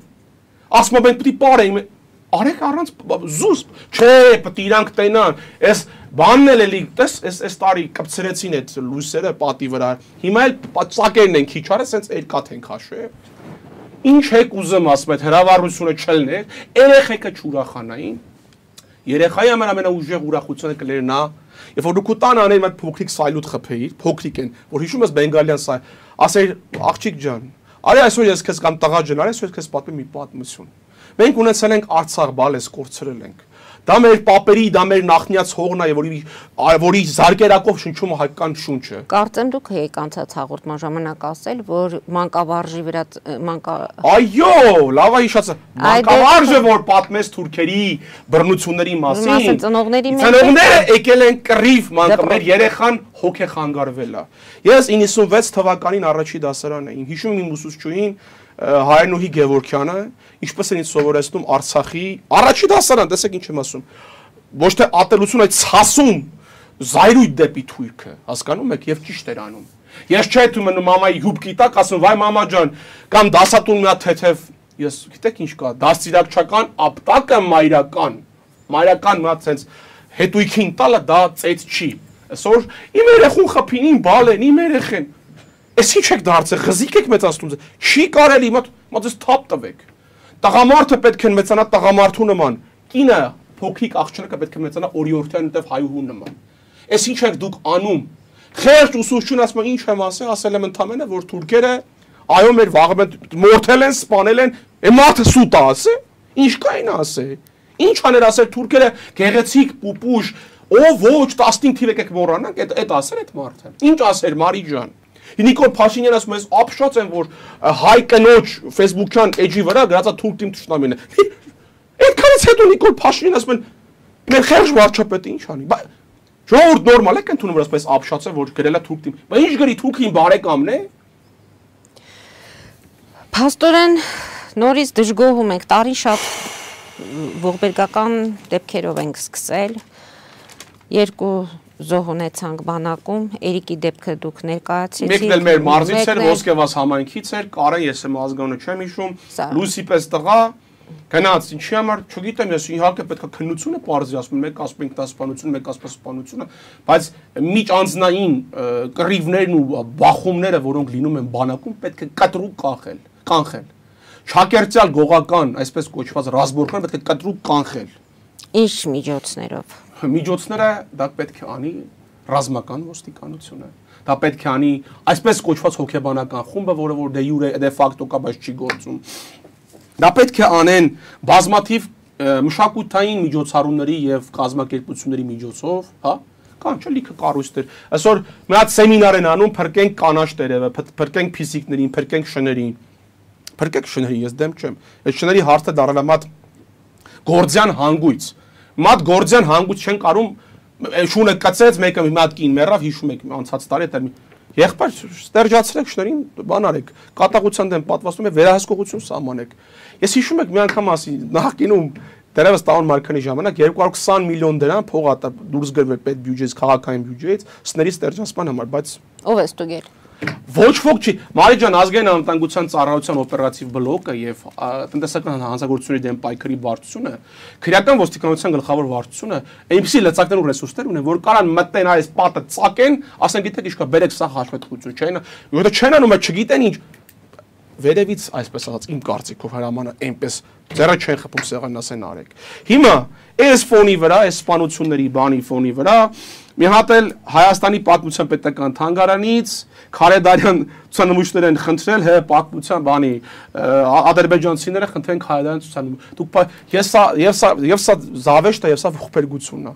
ասում եմ պետք է պարենք, արեք առանց զուսպ, չէ, պետք է իրանք տենան, այս բանն էլ էլի, տես, այս այս տարի կպցրեցին այդ լույսերը պատի վրա, հիմա էլ ծակերն են քիչ արել, սենց երկաթ են քաշել։ ինչ եք ուզում ասում այդ հրավառությունը չլներ, երեխեքը չուրախանային։ Երեխայի համար ամենաուժեղ ուրախությունը կլեր նա, երբ որ դու քո տան անեն այդ փոքրիկ սայլուտ խփեիր, փոքրիկ են, որ հիշում ես բենգալյան սայ, ասեր աղջիկ ջան, արի այսօր ես քեզ կամ տղա ջան, արի այսօր ես քեզ պատմեմ մի պատմություն։ Մենք ունեցել ենք Արցախ բալես կորցրել ենք։ Դա մեր պապերի, դա մեր նախնյաց հողն է, որի որի զարգերակով շնչում հայկական շունչը։ Կարծեմ դուք եք անցած հաղորդման ժամանակ ասել, որ մանկավարժի վրա մանկա Այո, լավ է հիշացա։ Մանկավարժը որ պատմեց թուրքերի բռնությունների մասին։ Ծնողների մեջ Ծնողները եկել են կռիվ մանկա, մեր երեխան հոգ է խանգարվել է։ Ես իննսունվեց թվականին առաջի դասարան էի։ Հիշում եմ իմ ուսուցչուհին Հայրենուհի Գևորգյանը, ինչպես են ինձ սովորեցնում Արցախի առաջի դասարան, տեսեք ինչ եմ ասում։ Ոչ թե ատելություն, այլ ցասում զայրույթ դեպի թուրքը, հասկանում եք, եւ ճիշտ էր անում։ Ես չէի թվում մնում մամայի հուբկի տակ, ասում վայ մամա ջան, կամ դասատուն մի հատ թեթև, ես գիտեք ինչ կա, դաստիարակչական ապտակը մայրական, մայրական մի հատ sense հետույքին տալը դա ծեծ չի։ Այսօր իմ երեխուն խփին, իմ բալեն, իմ երեխեն Ես ինչ եք դարձել, խզիկ եք մեծացնում, չի կարելի, մատ ես թափ տվեք։ Տղամարդը պետք է մեծանա տղամարդու նման, կինը փոքրիկ աղջիկը պետք է մեծանա օրիորդյան նտև հայուհու նման։ Ես ինչ եք դուք անում։ Խեղճ ուսուցչուն ասում ինչ եմ ասել, ասել եմ ընդամենը, որ թուրքերը այո մեր վաղը մորթել են, սպանել են, է մարդը սուտ է ասել, ինչ կային ասել։ Ինչ աներ ասել թուրքերը գեղեցիկ պուպուշ, ով ոչ տասնհինգ թիվ եկեք մոռանանք, այդ այդ ասել այդ մարդը։ Ինչ ասեր Մարի ջան։ Նիկոլ Փաշինյանը ասում է, ապշած են, որ հայ կնոջ Facebook-յան էջի վրա գրածա թուրք թիմ թշնամին է։ Այդքանից հետո Նիկոլ Փաշինյանը ասում են, մեր խեղճ վարչապետը ինչ անի։ Ժողովուրդ նորմալ է կընդունում, որ ասպես ապշած է, որ գրել է թուրք թիմ։ Բայց ինչ գրի թուրքին բարեկամն է։ Փաստորեն նորից դժգոհում ենք, տարին շատ ողբերգական դեպքերով ենք սկսել։ Երկու զոհ ունեցանք բանակում, Էրիկի դեպքը դուք ներկայացրեցիք։ Մեկն էլ մեր մարզից էր, Ոսկեվազ համայնքից էր, Կարեն, ես եմ ազգանունը չեմ հիշում, Լուսի պես տղա, գնաց, ինչի համար, չգիտեմ, ես իհարկե պետք է քննությունը պարզի, ասում են, մեկ ասում ենք դասպանությունը, մեկ ասում սպանությունը, բայց միջանձնային կռիվներն ու բախումները, որոնք լինում են բանակում, պետք է կտրուկ կանխել, կանխել։ Շակերտյալ գողական, այսպես կոչված ռազմորքները պետք է կտրուկ կանխել։ Ինչ միջոցներով։ Միջոցները դա պետք է անի ռազմական ոստիկանությունը։ Դա պետք է անի այսպես կոչված հոգեբանական խումբը, որը որ դե յուրե դե ֆակտո կա, բայց չի գործում։ Դա պետք է անեն բազմաթիվ մշակութային միջոցառումների եւ կազմակերպությունների միջոցով, հա, կան չէ լիքը կառույցներ։ Այսօր մի հատ սեմինար են անում, փրկենք կանաչ տերևը, փրկենք ֆիզիկներին, փրկենք շներին։ Փրկեք շներին, ես դեմ չեմ։ Այդ շների հարցը դառել է մատ գործյան հանգույց։ Մատ գործյան հանգույց չեն կարում շունը կծեց, մեկը մի հատ կին մեռավ, հիշում եք անցած տարի դա եղբայր ստերջացրեք շներին, բան արեք, կատաղության դեմ պատվաստում է վերահսկողություն սահմանեք։ Ես հիշում եք մի անգամ ասի նախկինում դերևս Տաուն Մարկանի ժամանակ երկու հարյուր քսան միլիոն դրամ փող ա դուրս գրվել պետ բյուջեից, քաղաքային բյուջեից, սների ստերջացման համար, բայց ով է ստուգել։ Ոչ ոք չի, Մարի ջան, ազգային անվտանգության ծառայության օպերատիվ բլոկը եւ տնտեսական հանձնագործությունների դեմ պայքարի վարչությունը, քրեական ոստիկանության գլխավոր վարչությունը այնպիսի լծակներ ու ռեսուրսներ ունեն, որ կարան մտնեն այս պատը ծակեն, ասեն գիտեք ինչ կա, բերեք սա հաշվետվություն, չէ՞, որովհետեւ չեն անում, չգիտեն ինչ վերևից այսպես ասած իմ կարծիքով հրամանը այնպես ձեռը չեն խփում սեղանն ասեն արեք։ Հիմա այս ֆոնի վրա, այս սպանությունների բանի ֆոնի վրա մի հատ էլ Հայաստանի պատմության պետական թանգարանից Քարեդարյան ցուցանմուշներ են խնդրել հե պատմության բանի ադրբեջանցիները խնդրեն Քարեդարյան ցուցանմուշ։ Դուք ես սա եւ սա եւ սա զավեշտ է եւ սա ողբերգությունն է։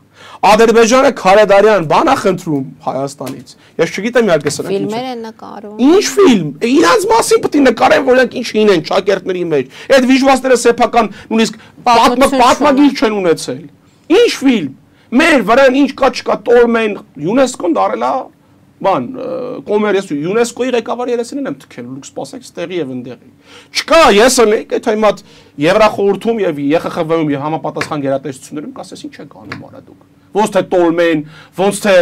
Ադրբեջանը Քարեդարյան բան է խնդրում Հայաստանից։ Ես չգիտեմ իհարկե սրանք ինչ։ Ֆիլմեր են նկարում։ Ինչ ֆիլմ։ Իրանց մասին պետք է նկարեն, որ իրենք ինչին են շակերտների մեջ։ Այդ վիժուալները սեփական նույնիսկ պատմագիր չեն ունեցել։ Ինչ ֆիլմ։ Մեր վրան ինչ կա չկա տոլմեն ՅՈՒՆԵՍԿՕ-ն դարել է բան կոմերս ՅՈՒՆԵՍԿՕ-ի ղեկավարի երեսին եմ թքել լուք սպասեք ստեղի եւ ընդեղի չկա ես ըլեք այդ հիմա Եվրախորհրդում եւ ԵԽԽՎ-ում եւ համապատասխան գերատեսչություններում կասես ինչ եք անում արա դուք ոնց թե տոլմեն ոնց թե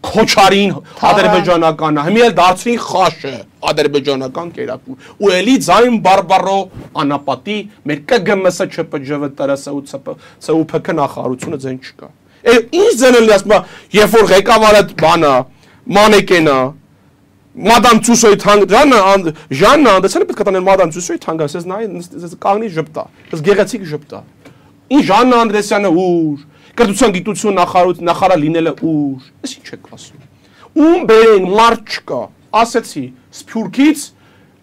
քոչարին ադրբեջանականն հիմա էլ դարձրին խաշը ադրբեջանական կերակուր ու էլի ձայն բարբարո անապատի մեր ԿԳՄՍ ՉՊԺՎ ՏՐՍ-ՑՈՒՓԿ նախարարությունը ձեն չկա Ինչ ձենը լի ասում երբ որ ղեկավարը բանա մանեկենա Մադամ Ծուսոյի թանգ Ժաննա Ժաննա Անդրեսյանը պետք է տանել Մադամ Ծուսոյի թանգը, ասես նայ կանգնի ժպտա, այս գեղեցիկ ժպտա։ Ին Ժաննա Անդրեսյանը ուր, կրթության գիտություն նախարար լինելը ուր, այս ինչ եք ասում։ Ում բերեն մարդ չկա, ասեցի, Սփյուռքից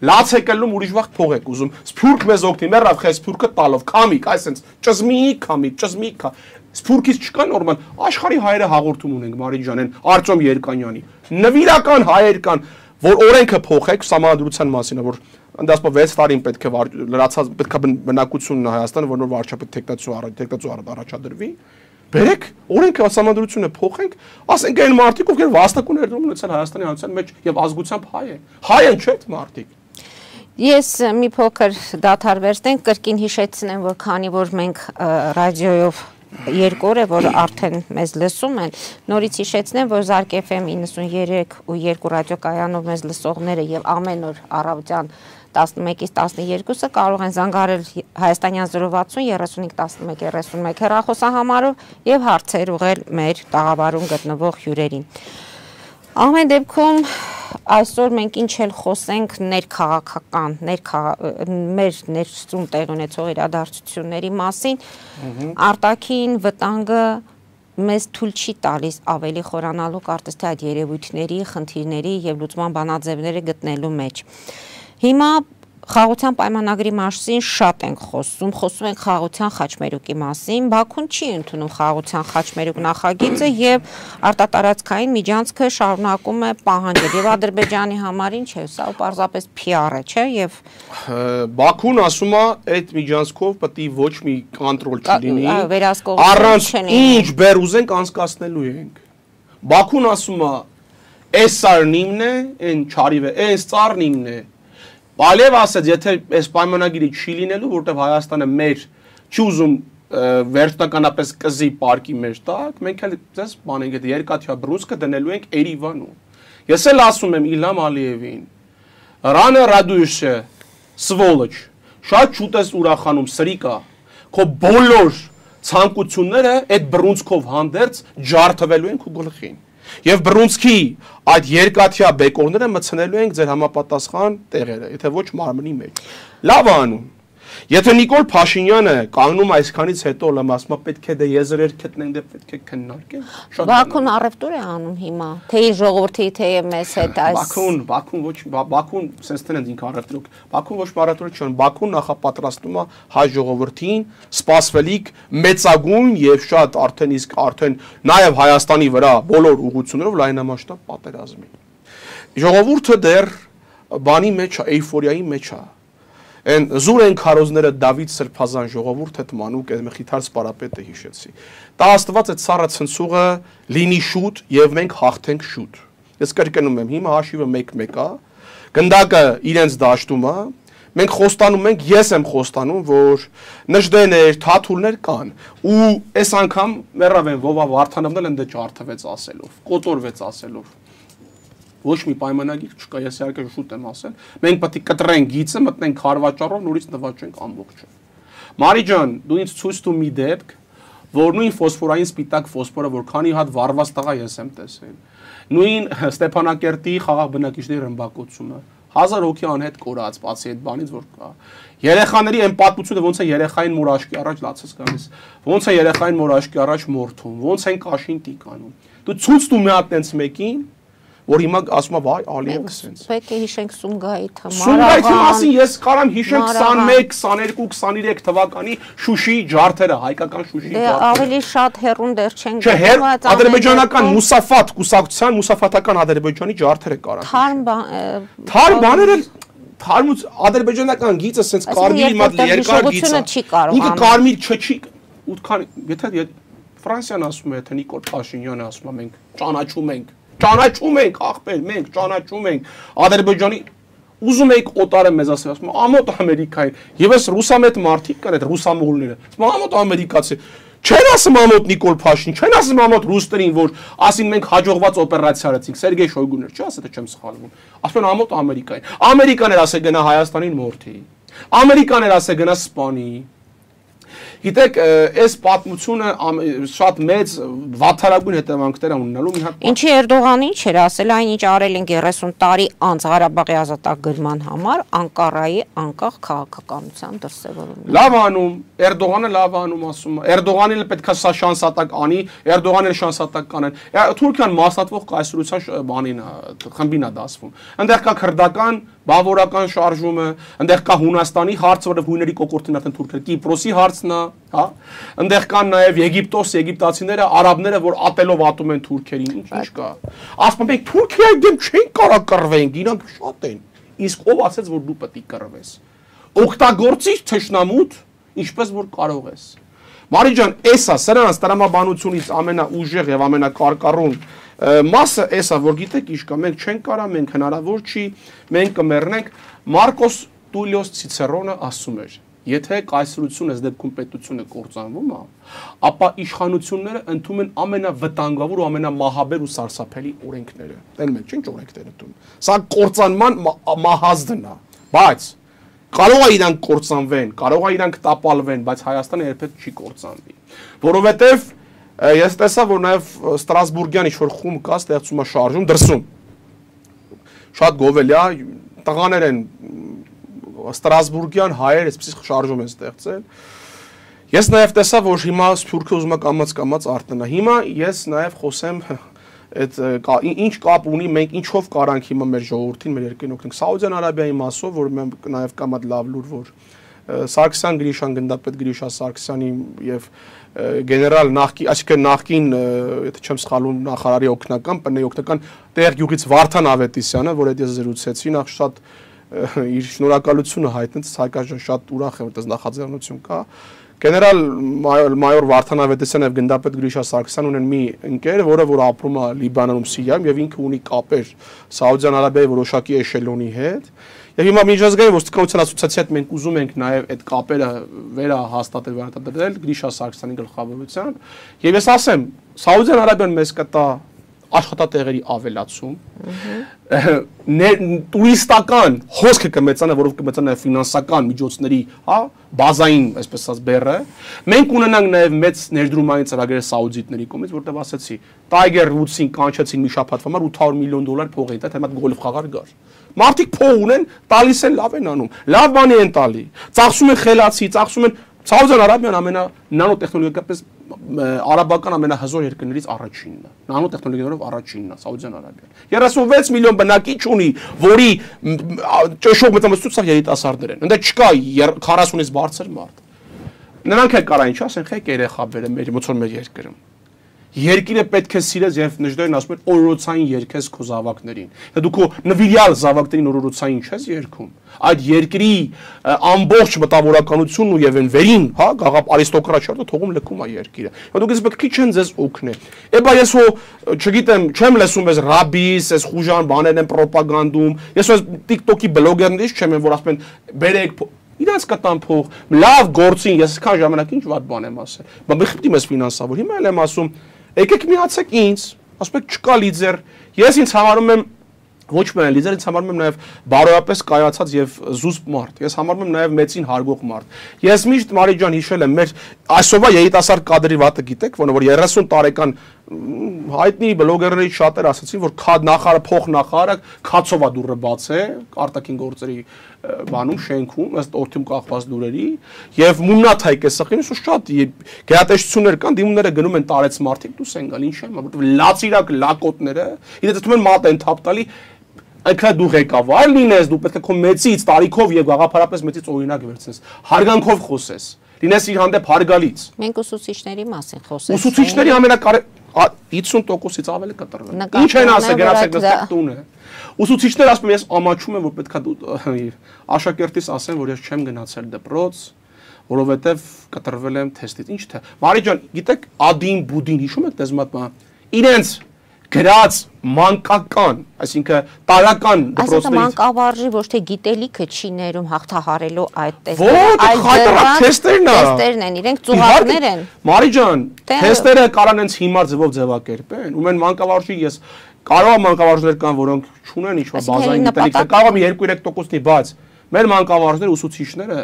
լաց եկելում ուրիշ վաղ փող եք ուզում։ Սփյուռք մեզ օգնի, մեռավ խե Սփյուռքը տալով, կամիկ, այսենց ճզմիկ, կամիկ, ճզմիկ կա։ Սփյուռքից չկա նորմալ, աշխարհի հայերը հաղորդում ունենք Մարիջ ջանեն, Արտյոմ Երկանյանի։ Նվիրական հայեր կան, որ օրենքը փոխեք սահմանադրության մասին, որ ընդասպա վեց տարին պետք է լրացած պետք է բնակությունն Հայաստանը, որ նոր վարչապետ տեխնացու առաջ տեխնացու առաջադրվի։ Բերեք օրենքը սահմանադրությունը փոխենք, ասենք այն մարդիկ, ովքեր վաստակուն ներդրում ունեցան Հայաստանի հանրության մեջ եւ ազգությամբ հայ են։ Հայ են չէ՞ մարդիկ։ Ես մի փոքր դադար վերցնենք, կրկին հիշեցնեմ, որ քանի որ մենք ռադիոյով երկու օր է, որ արդեն մեզ լսում են, նորից հիշեցնեմ, որ Զարկ Էֆ Էմ իննսուններեք ու երկու ռադիոկայանով մեզ լսողները եւ ամեն օր առավոտյան տասնմեկից տասներկուսը կարող են զանգարել Հայաստանյան զրո վաթսուն երեսունհինգ տասնմեկ երեսունմեկ հեռախոսահամարով եւ հարցեր ուղղել մեր տաղավարում գտնվող հյուրերին։ Ամեն դեպքում այսօր մենք ինչ էլ խոսենք ներքաղաքական, մեր ներսում տեղ ունեցող իրադարձությունների մասին, արտաքին վտանգը մեզ թույլ չի տալիս ավելի խորանալու կարծես թե այդ երևույթների, խնդիրների եւ լուծման բանաձևները գտնելու մեջ։ Հիմա խաղաղության պայմանագրի մասին շատ ենք խոսում, խոսում ենք խաղաղության խաչմերուկի մասին, Բաքուն չի ընդունում խաղաղության խաչմերուկ նախագիծը եւ արտատարածքային միջանցքը շարունակում է պահանջել եւ Ադրբեջանի համար ինչ է, սա պարզապես Փի Ար է, չէ՞, եւ Բաքուն ասում է այդ միջանցքով պետք է ոչ մի կոնտրոլ չլինի, առանց ինչ բեր ուզենք անցկացնելու ենք։ Բաքուն ասում է այս սարն իմն է, այն չարիվ է, այս ծառն իմն է։ Բալև ասեց, եթե այս պայմանագիրը չի լինելու, որտեղ Հայաստանը մեր չի ուզում վերջնականապես կզի պարկի մեր տակ, մենք էլ ձեզ բանենք այդ երկաթյա բրուսկը դնելու ենք Երևանում։ Ես էլ ասում եմ Իլհամ Ալիևին, Ռանը Ռադուշը, Սվոլոչ, շատ շուտ ես ուրախանում, սրիկա, քո բոլոր ցանկությունները այդ բրունցքով հանդերձ ջարդվելու են քո գլխին։ Եվ բրունցքի այդ երկաթյա բեկորները մցնելու ենք ձեր համապատասխան տեղերը, եթե ոչ մարմնի մեջ։ Լավ անում։ Եթե Նիկոլ Փաշինյանը կանգնում այսքանից հետո լամ ասում է պետք է դե եզրեր գտնենք, դե պետք է քննարկենք։ Բաքուն առևտուր է անում հիմա, թե իր ժողովրդի, թե մեզ հետ այս Բաքուն, Բաքուն ոչ Բաքուն sense տնեն ինքը առևտուր։ Բաքուն ոչ առևտուր չի անում, Բաքուն նախապատրաստում է հայ ժողովրդին սպասվելիք մեծագույն եւ շատ արդեն իսկ արդեն նաեւ Հայաստանի վրա բոլոր ուղղություններով լայնամասշտաբ պատերազմի։ Ժողովուրդը դեռ բանի մեջ է, էյֆորիայի մեջ է։ Են զուր են քարոզները Դավիթ Սրբազան ժողովուրդ հետ մանուկ այդ մխիթար սպարապետը հիշեցի։ Դա Աստված այդ սառը ցնցուղը լինի շուտ եւ մենք հաղթենք շուտ։ Ես կրկնում եմ, հիմա հաշիվը մեկ-մեկ է, գնդակը իրենց դաշտում է, մենք խոստանում ենք, ես եմ խոստանում, որ նժդեներ, թաթուլներ կան, ու այս անգամ մեռավ են Վովա Վարդանովն էլ ընդը ջարդվեց ասելով, կոտորվեց ասելով։ Ոչ մի պայմանագիր չկա, ես իհարկե շուտ եմ ասել։ Մենք պետք է կտրենք գիծը, մտնենք քարվաճառով, նորից նվաճենք ամբողջը։ Մարի ջան, դու ինձ ցույց տու մի դեպք, որ նույն ֆոսֆորային սպիտակ ֆոսֆորը, որ քանի հատ վառված տղա ես եմ տեսել։ Նույն Ստեփանակերտի խաղաղ բնակիչների ռմբակոծումը։ Հազար հոգի անհետ կորած, բացի այդ բանից որ կա։ Երեխաների այն պատմությունը ոնց է երեխային մորաշկի առաջ լացած գալիս։ Ոնց է երեխային մորաշկի առաջ մորթում, ոնց են կաշին տիկանում։ Դու ցույց տու մի հատ տենց մեկին, որ հիմա ասում է վայ Ալիևը սենց։ Պետք է հիշենք Սումգայիթը, Սումգայիթի մասին ես կարամ հիշեմ քսանմեկ, քսաներկու, քսաներեք թվականի Շուշիի ջարդերը, հայկական Շուշիի ջարդերը։ Դե ավելի շատ հեռուն դեռ չենք գտնում, ադրբեջանական Մուսաֆատ կուսակցության, Մուսաֆատական Ադրբեջանի ջարդերը կարան։ Թարմ Թարմ բաները թարմուց ադրբեջանական գիծը սենց կարմիրի մոտ երկար գիծ է։ Ինքը կարմիր չչի, ուտքան, եթե Ֆրանսիան ասում է, թե Նիկոլ Փաշինյանը ասում է, մենք ճանաչում ենք Ճանաչում ենք, ախպեր, մենք ճանաչում ենք Ադրբեջանի ուզում եք օտարը մեզ ասել, ասում ամոթ Ամերիկային, եւ այս ռուսամետ մարդիկ կան, այդ ռուսամուղլները, ասում ամոթ ամերիկացի, չեն ասում ամոթ Նիկոլ Փաշին, չեն ասում ամոթ ռուսներին, որ ասին մենք հաջողված օպերացիա արեցինք, Սերգեյ Շոյգուներ, չի ասել, թե չեմ սխալվում, ասում են ամոթ Ամերիկային, Ամերիկան էր ասել գնա Հայաստանին մորթի, Ամերիկան էր ասել գնա Սպանի, Գիտեք, այս պատմությունը շատ մեծ վատթարագույն հետևանքներ է ունենալու մի հատ։ Ինչի Էրդողանին չէր ասել այն ինչ արել են երեսուն տարի անց Ղարաբաղի ազատագրման համար, Անկարայի անկախ քաղաքականության դրսևորումն։ Լավ անում, Էրդողանը լավ անում ասում է։ Էրդողանին էլ պետք է սա շանսատակ անի, Էրդողանին էլ շանսատակ կանեն։ Թուրքիան մասնատվող կայսրության բանին է, խմբին է դասվում։ Այնտեղ կա քրդական բավորական շարժումը, այնտեղ կա Հունաստանի հարցը, որը հույների կոկորտին արդեն թուրքերը, Կիպրոսի հարցն է, հա։ Այնտեղ կան նաև Եգիպտոս, եգիպտացիները, արաբները, որ ատելով ատում են թուրքերին, ինչ ինչ կա։ Ասում ենք Թուրքիայի դեմ չեն կարա կռվենք, իրանք շատ են։ Իսկ ով ասեց, որ դու պետք է կռվես։ Օգտագործիր թշնամուտ, ինչպես որ կարող ես։ Մարի ջան, էսա սրանց տրամաբանությունից ամենաուժեղ եւ ամենակարկառուն մասը էսա, որ գիտեք ինչ կա, մենք չենք կարա, մենք հնարավոր չի, մենք կմեռնենք։ Մարկոս Տուլիոս Ցիցերոնը ասում էր. եթե կայսրությունը ըստ դեպքում պետությունը կործանվում է, ապա իշխանությունները ընդունում են ամենավտանգավոր ու ամենամահաբեր ու սարսափելի օրենքները։ Տեն մենք ինչ օրենքներ ընդունում։ Սա կործանման մահազդն է, բայց կարող է իրանք կործանվեն, կարող է իրանք տապալվեն, բայց Հայաստանը երբեք չի կործանվի, որովհետև ես տեսա, որ նաև Ստրասբուրգյան ինչ-որ խումբ կա, ստեղծում է շարժում, դրսում։ Շատ գովելի է, տղաներ են Ստրասբուրգյան հայեր, այսպես շարժում են ստեղծել։ Ես նաև տեսա, որ հիմա Սփյուռքը ուզում է կամաց-կամաց արտնա։ Հիմա ես նաև խոսեմ այդ ինչ կապ ունի, մենք ինչով կարանք հիմա մեր ժողովրդին, մեր երկրին օգնենք։ Սաուդյան Արաբիայի մասով, որ նաև կա մատ լավ լուր, որ Սարգսյան Գրիշան, գնդապետ Գրիշա Սարգսյանի եւ գեներալ նախկին, այսինքն նախկին, եթե չեմ սխալվում, նախարարի օգնական, ՊՆ-ի օգնական տեղ գյուղից Վարդան Ավետիսյանը, որ այդ ես զրուցեցի, նախ շատ իր շնորհակալությունը հայտնեց, հայկական շատ ուրախ եմ, որտեղ նախաձեռնություն կա։ Գեներալ մայոր Վարդան Ավետիսյանը եւ գնդապետ Գրիշա Սարգսյանն ունեն մի ընկեր, որը որ ապրում է Լիբանանում, Սիրիայում եւ ինքը ունի կապեր Սաուդյան Արաբիայի որոշակի էշելոնի հետ։ Եվ հիմա միջազգային ոստիկանության ասոցիացիայի հետ մենք ուզում ենք նաև այդ կապերը վերահաստատել, վերարտադրել Գրիշա Սարգսյանի գլխավորությամբ։ Եվ ես ասեմ, Սաուդյան Արաբիան մեզ կտա աշխատատեղերի ավելացում, տուրիստական հոսքը կմեծանա, որով կմեծանա ֆինանսական միջոցների, հա, բազային, այսպես ասած, բեռը։ Մենք ունենանք նաև մեծ ներդրումային ծրագրեր սաուդիտների կողմից, որտեղ ասեցի, Tiger Woods-ին կանչեցին մի շաբաթ համար ութ հարյուր միլիոն դոլար փող էին տա, թե մատ գոլֆ խաղար գար։ Մարդիկ փող ունեն, տալիս են, լավ են անում, լավ բանի են տալի, ծախսում են խելացի, ծախսում են Սաուդյան Արաբիան ամենա նանոտեխնոլոգիապես արաբական ամենահզոր երկրներից առաջինն է։ Նանոտեխնոլոգիաներով առաջինն է Սաուդյան Արաբիան։ երեսունվեց միլիոն բնակիչ ունի, որի ճշող մեծամասնությունը երիտասարդներ են։ Ընդ չկա քառասունից բարձր մարդ։ Նրանք էլ կարա ինչ ասեն, խեք երեխա բերեմ մեր ոնց որ մեր երկրում։ Երկիրը պետք է սիրես եւ նժդերին ասում են օրորոցային երկես քո զավակներին։ Դա դու քո նվիրյալ զավակներին օրորոցային չես երգում։ Այդ երկրի ամբողջ մտավորականությունն ու եւ այն վերին, հա, գաղափ արիստոկրատիա թողում լքում է երկիրը։ Ու դուք իսկ քիչ են ձեզ օգնել։ Էբա ես հո չգիտեմ, չեմ լսում ես ռաբիս, ես խուժան բաներ են ռոպագանդում։ Ես հո TikTok-ի բլոգերներից չեմ, որ ասում են բերեք իրանց կտան փող, լավ գործին, ես քան ժամանակ ինչ վատ բան եմ ասել։ Բա մի խփտիմ ես ֆինանսավոր։ Հիմա էլ եմ ասում եկեք միացեք ինձ, ասում եք չկա լիդեր, ես ինձ համարում եմ ոչ միայն լիդեր, ինձ համարում եմ նաև բարոյապես կայացած եւ զուսպ մարդ, ես համարում եմ նաև մեծին հարգող մարդ։ Ես միշտ Մարի ջան հիշել եմ մեր այսօրվա երիտասարդ կադրի վատը գիտեք, որ երեսուն տարեկան հայտնի բլոգերներից շատեր ասացին, որ նախարարը փող նախարարը քացովա դուրը բացե, արտաքին գործերի բանում շենքում, ըստ օրթում կախված լուրերի, եւ մուննաթայք է սխին, ու շատ գերատեսչություններ կան, դիմումները գնում են տարեց մարդիկ, դուս են գալ, ինչ եմ, որովհետեւ լացիրակ լակոտները, իրենց դու են մատ են թափ տալի, այնքա դու ղեկավար լինես, դու պետք է քո մեծից, տարիքով եւ գաղափարապես մեծից օրինակ վերցնես, հարգանքով խոսես, լինես իր հանդեպ հարգալից։ Մենք ուսուցիչների մասին խոսենք։ Ուսուցիչների ամենակարևոր հիսուն տոկոսից ավել է կտրվել։ Ինչ են ասել, գերացեք նստեք տունը։ Ուսուցիչները ասում են, ես ամաչում եմ, որ պետքա աշակերտիս ասեն, որ ես չեմ գնացել դպրոց, որովհետև կտրվել եմ թեստից։ Ինչ թե։ Մարի ջան, գիտեք, ադին բուդին հիշում եք դեզմատմա։ Իրենց գրած մանկական, այսինքն տարական դպրոցներից։ Այսինքն մանկավարժի ոչ թե գիտելիքը չի ներում հաղթահարելու այդ տեստերն, այլ թեստերն են, իրենք ծուղակներ են։ Մարի ջան, թեստերը կարան հենց հիմար ձևով ձևակերպեն, ու մեն մանկավարժի ես կարող եմ մանկավարժներ կան, որոնք չունեն ինչ-որ բազային գիտելիք, կարող եմ երկու երեք տոկոսնի, բայց մեր մանկավարժները ուսուցիչները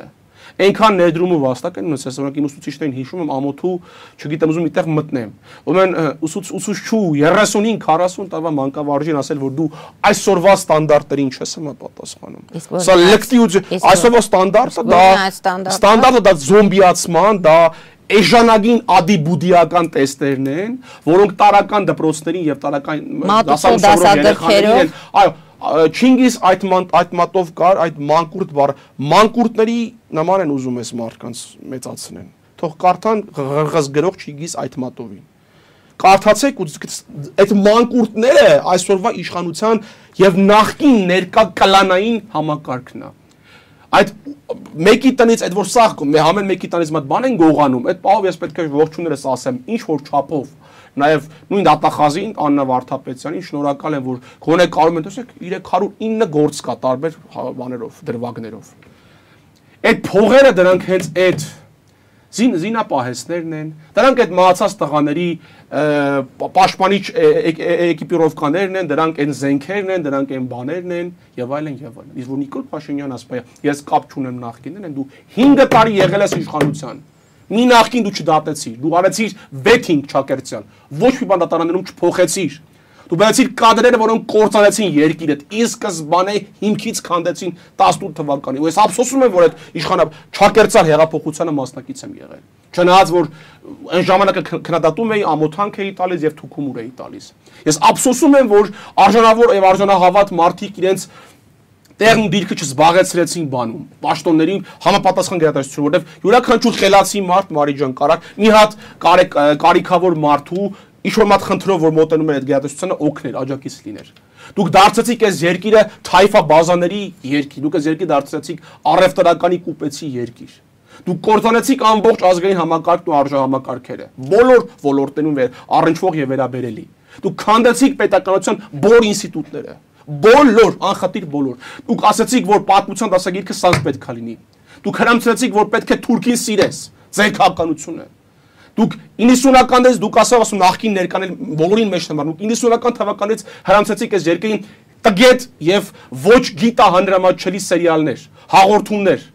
Այնքան ներդրում ու վաստակ են ունեցել, օրինակ իմ ուսուցիչներին հիշում եմ ամոթու, չգիտեմ, ուզում այդտեղ մտնեմ։ Ուրեմն ուսուցչու երեսունհինգ քառասուն տարվա մանկավարժին ասել, որ դու այսօրվա ստանդարտներին չես համապատասխանում։ Սա լկտի ու այսօրվա ստանդարտը դա ստանդարտը դա զոմբիացման, դա էժանագին ադիբուդիական տեստերն են, որոնք տարական դպրոցներին եւ տարական դասավորող երեխաներին, այո, Չինգիզ այդ այդ մատով կար, այդ մանկուրտ բառ, մանկուրտների նման են ուզում ես մարդկանց մեծացնեն։ Թող կարդան ղղղս գրող Չինգիզ այդ մատովին։ Կարդացեք ու այդ մանկուրտները այսօրվա իշխանության եւ նախկին ներկա կլանային համակարգն է։ Այդ մեկի տնից այդ որ սաղ համեն մեկի տնից մատ բան են գողանում, այդ պահով ես պետք է ողջուններս ասեմ, ինչ որ չափով, նաև նույն դատախազին Աննա Վարդապետյանին շնորհակալ եմ, որ գոնե կարում են, տեսեք, երեք հարյուր ինը գործ կա տարբեր բաներով, դրվագներով։ Այդ փողերը դրանք հենց այդ զինապահեսներն են, դրանք այդ մահացած տղաների պաշտպանիչ էկիպիրովկաներն են, դրանք այն զենքերն են, դրանք այն բաներն են եւ այլն եւ այլն։ Իսկ որ Նիկոլ Փաշինյան ասպայ, ես կապ չունեմ նախկինն, դու հինգ տարի եղել ես իշխանության։ Մի նախկին դու չդատեցիր, դու արեցիր վեթինգ Չակերտյան, ոչ մի բան դատարաններում չփոխեցիր։ Դու բերեցիր կադրերը, որոնք կործանեցին երկիրը, ի սկզբանե հիմքից քանդեցին տասնութ թվականին։ Ու ես ափսոսում եմ, որ այդ իշխանա Չակերտյան հեղափոխությանը մասնակից եմ եղել։ Չնայած որ այն ժամանակը քննադատում էի, ամոթանք էի տալիս եւ թուքումուր էի տալիս։ Ես ափսոսում եմ, որ արժանավոր եւ արժանահավատ մարդիկ իրենց տեղն դիրքը չզբաղեցրեցին բանում, պաշտոններին համապատասխան գերատեսչություն, որովհետեւ յուրաքանչյուր խելացի մարդ Մարի ջան կարակ մի հատ կարիքավոր մարդու ինչ-որ մատ խնդրով, որ մոտենում էր այդ գերատեսչությանը օգներ, աջակից լիներ։ Դուք դարձեցիք այս երկիրը թայֆա բազաների երկիր, դուք այս երկիրը դարձրեցիք առևտրականի կուպեցի երկիր։ Դուք կործանեցիք ամբողջ ազգային համակարգն ու արժանամակարգերը, բոլոր ոլորտներում առնչվող եւ վերաբերելի։ Դուք քանդեցիք պետականության բոլոր ինստիտուտները, բոլոր, անխտիր բոլոր։ Դուք ասացիք, որ պատմության դասագիրքը սանձ պետք է լինի։ Դուք հրամցրեցիք, որ պետք է թուրքին սիրես, ձեր քաղաքականությունը։ Դուք իննսունականներից դուք ասավ ասում նախկին ներկանել բոլորին մեջ թմար, դուք իննսունական թվականից հրամցեցիք այս երկրին տգետ եւ ոչ գիտահանրամատչելի սերիալներ, հաղորդումներ,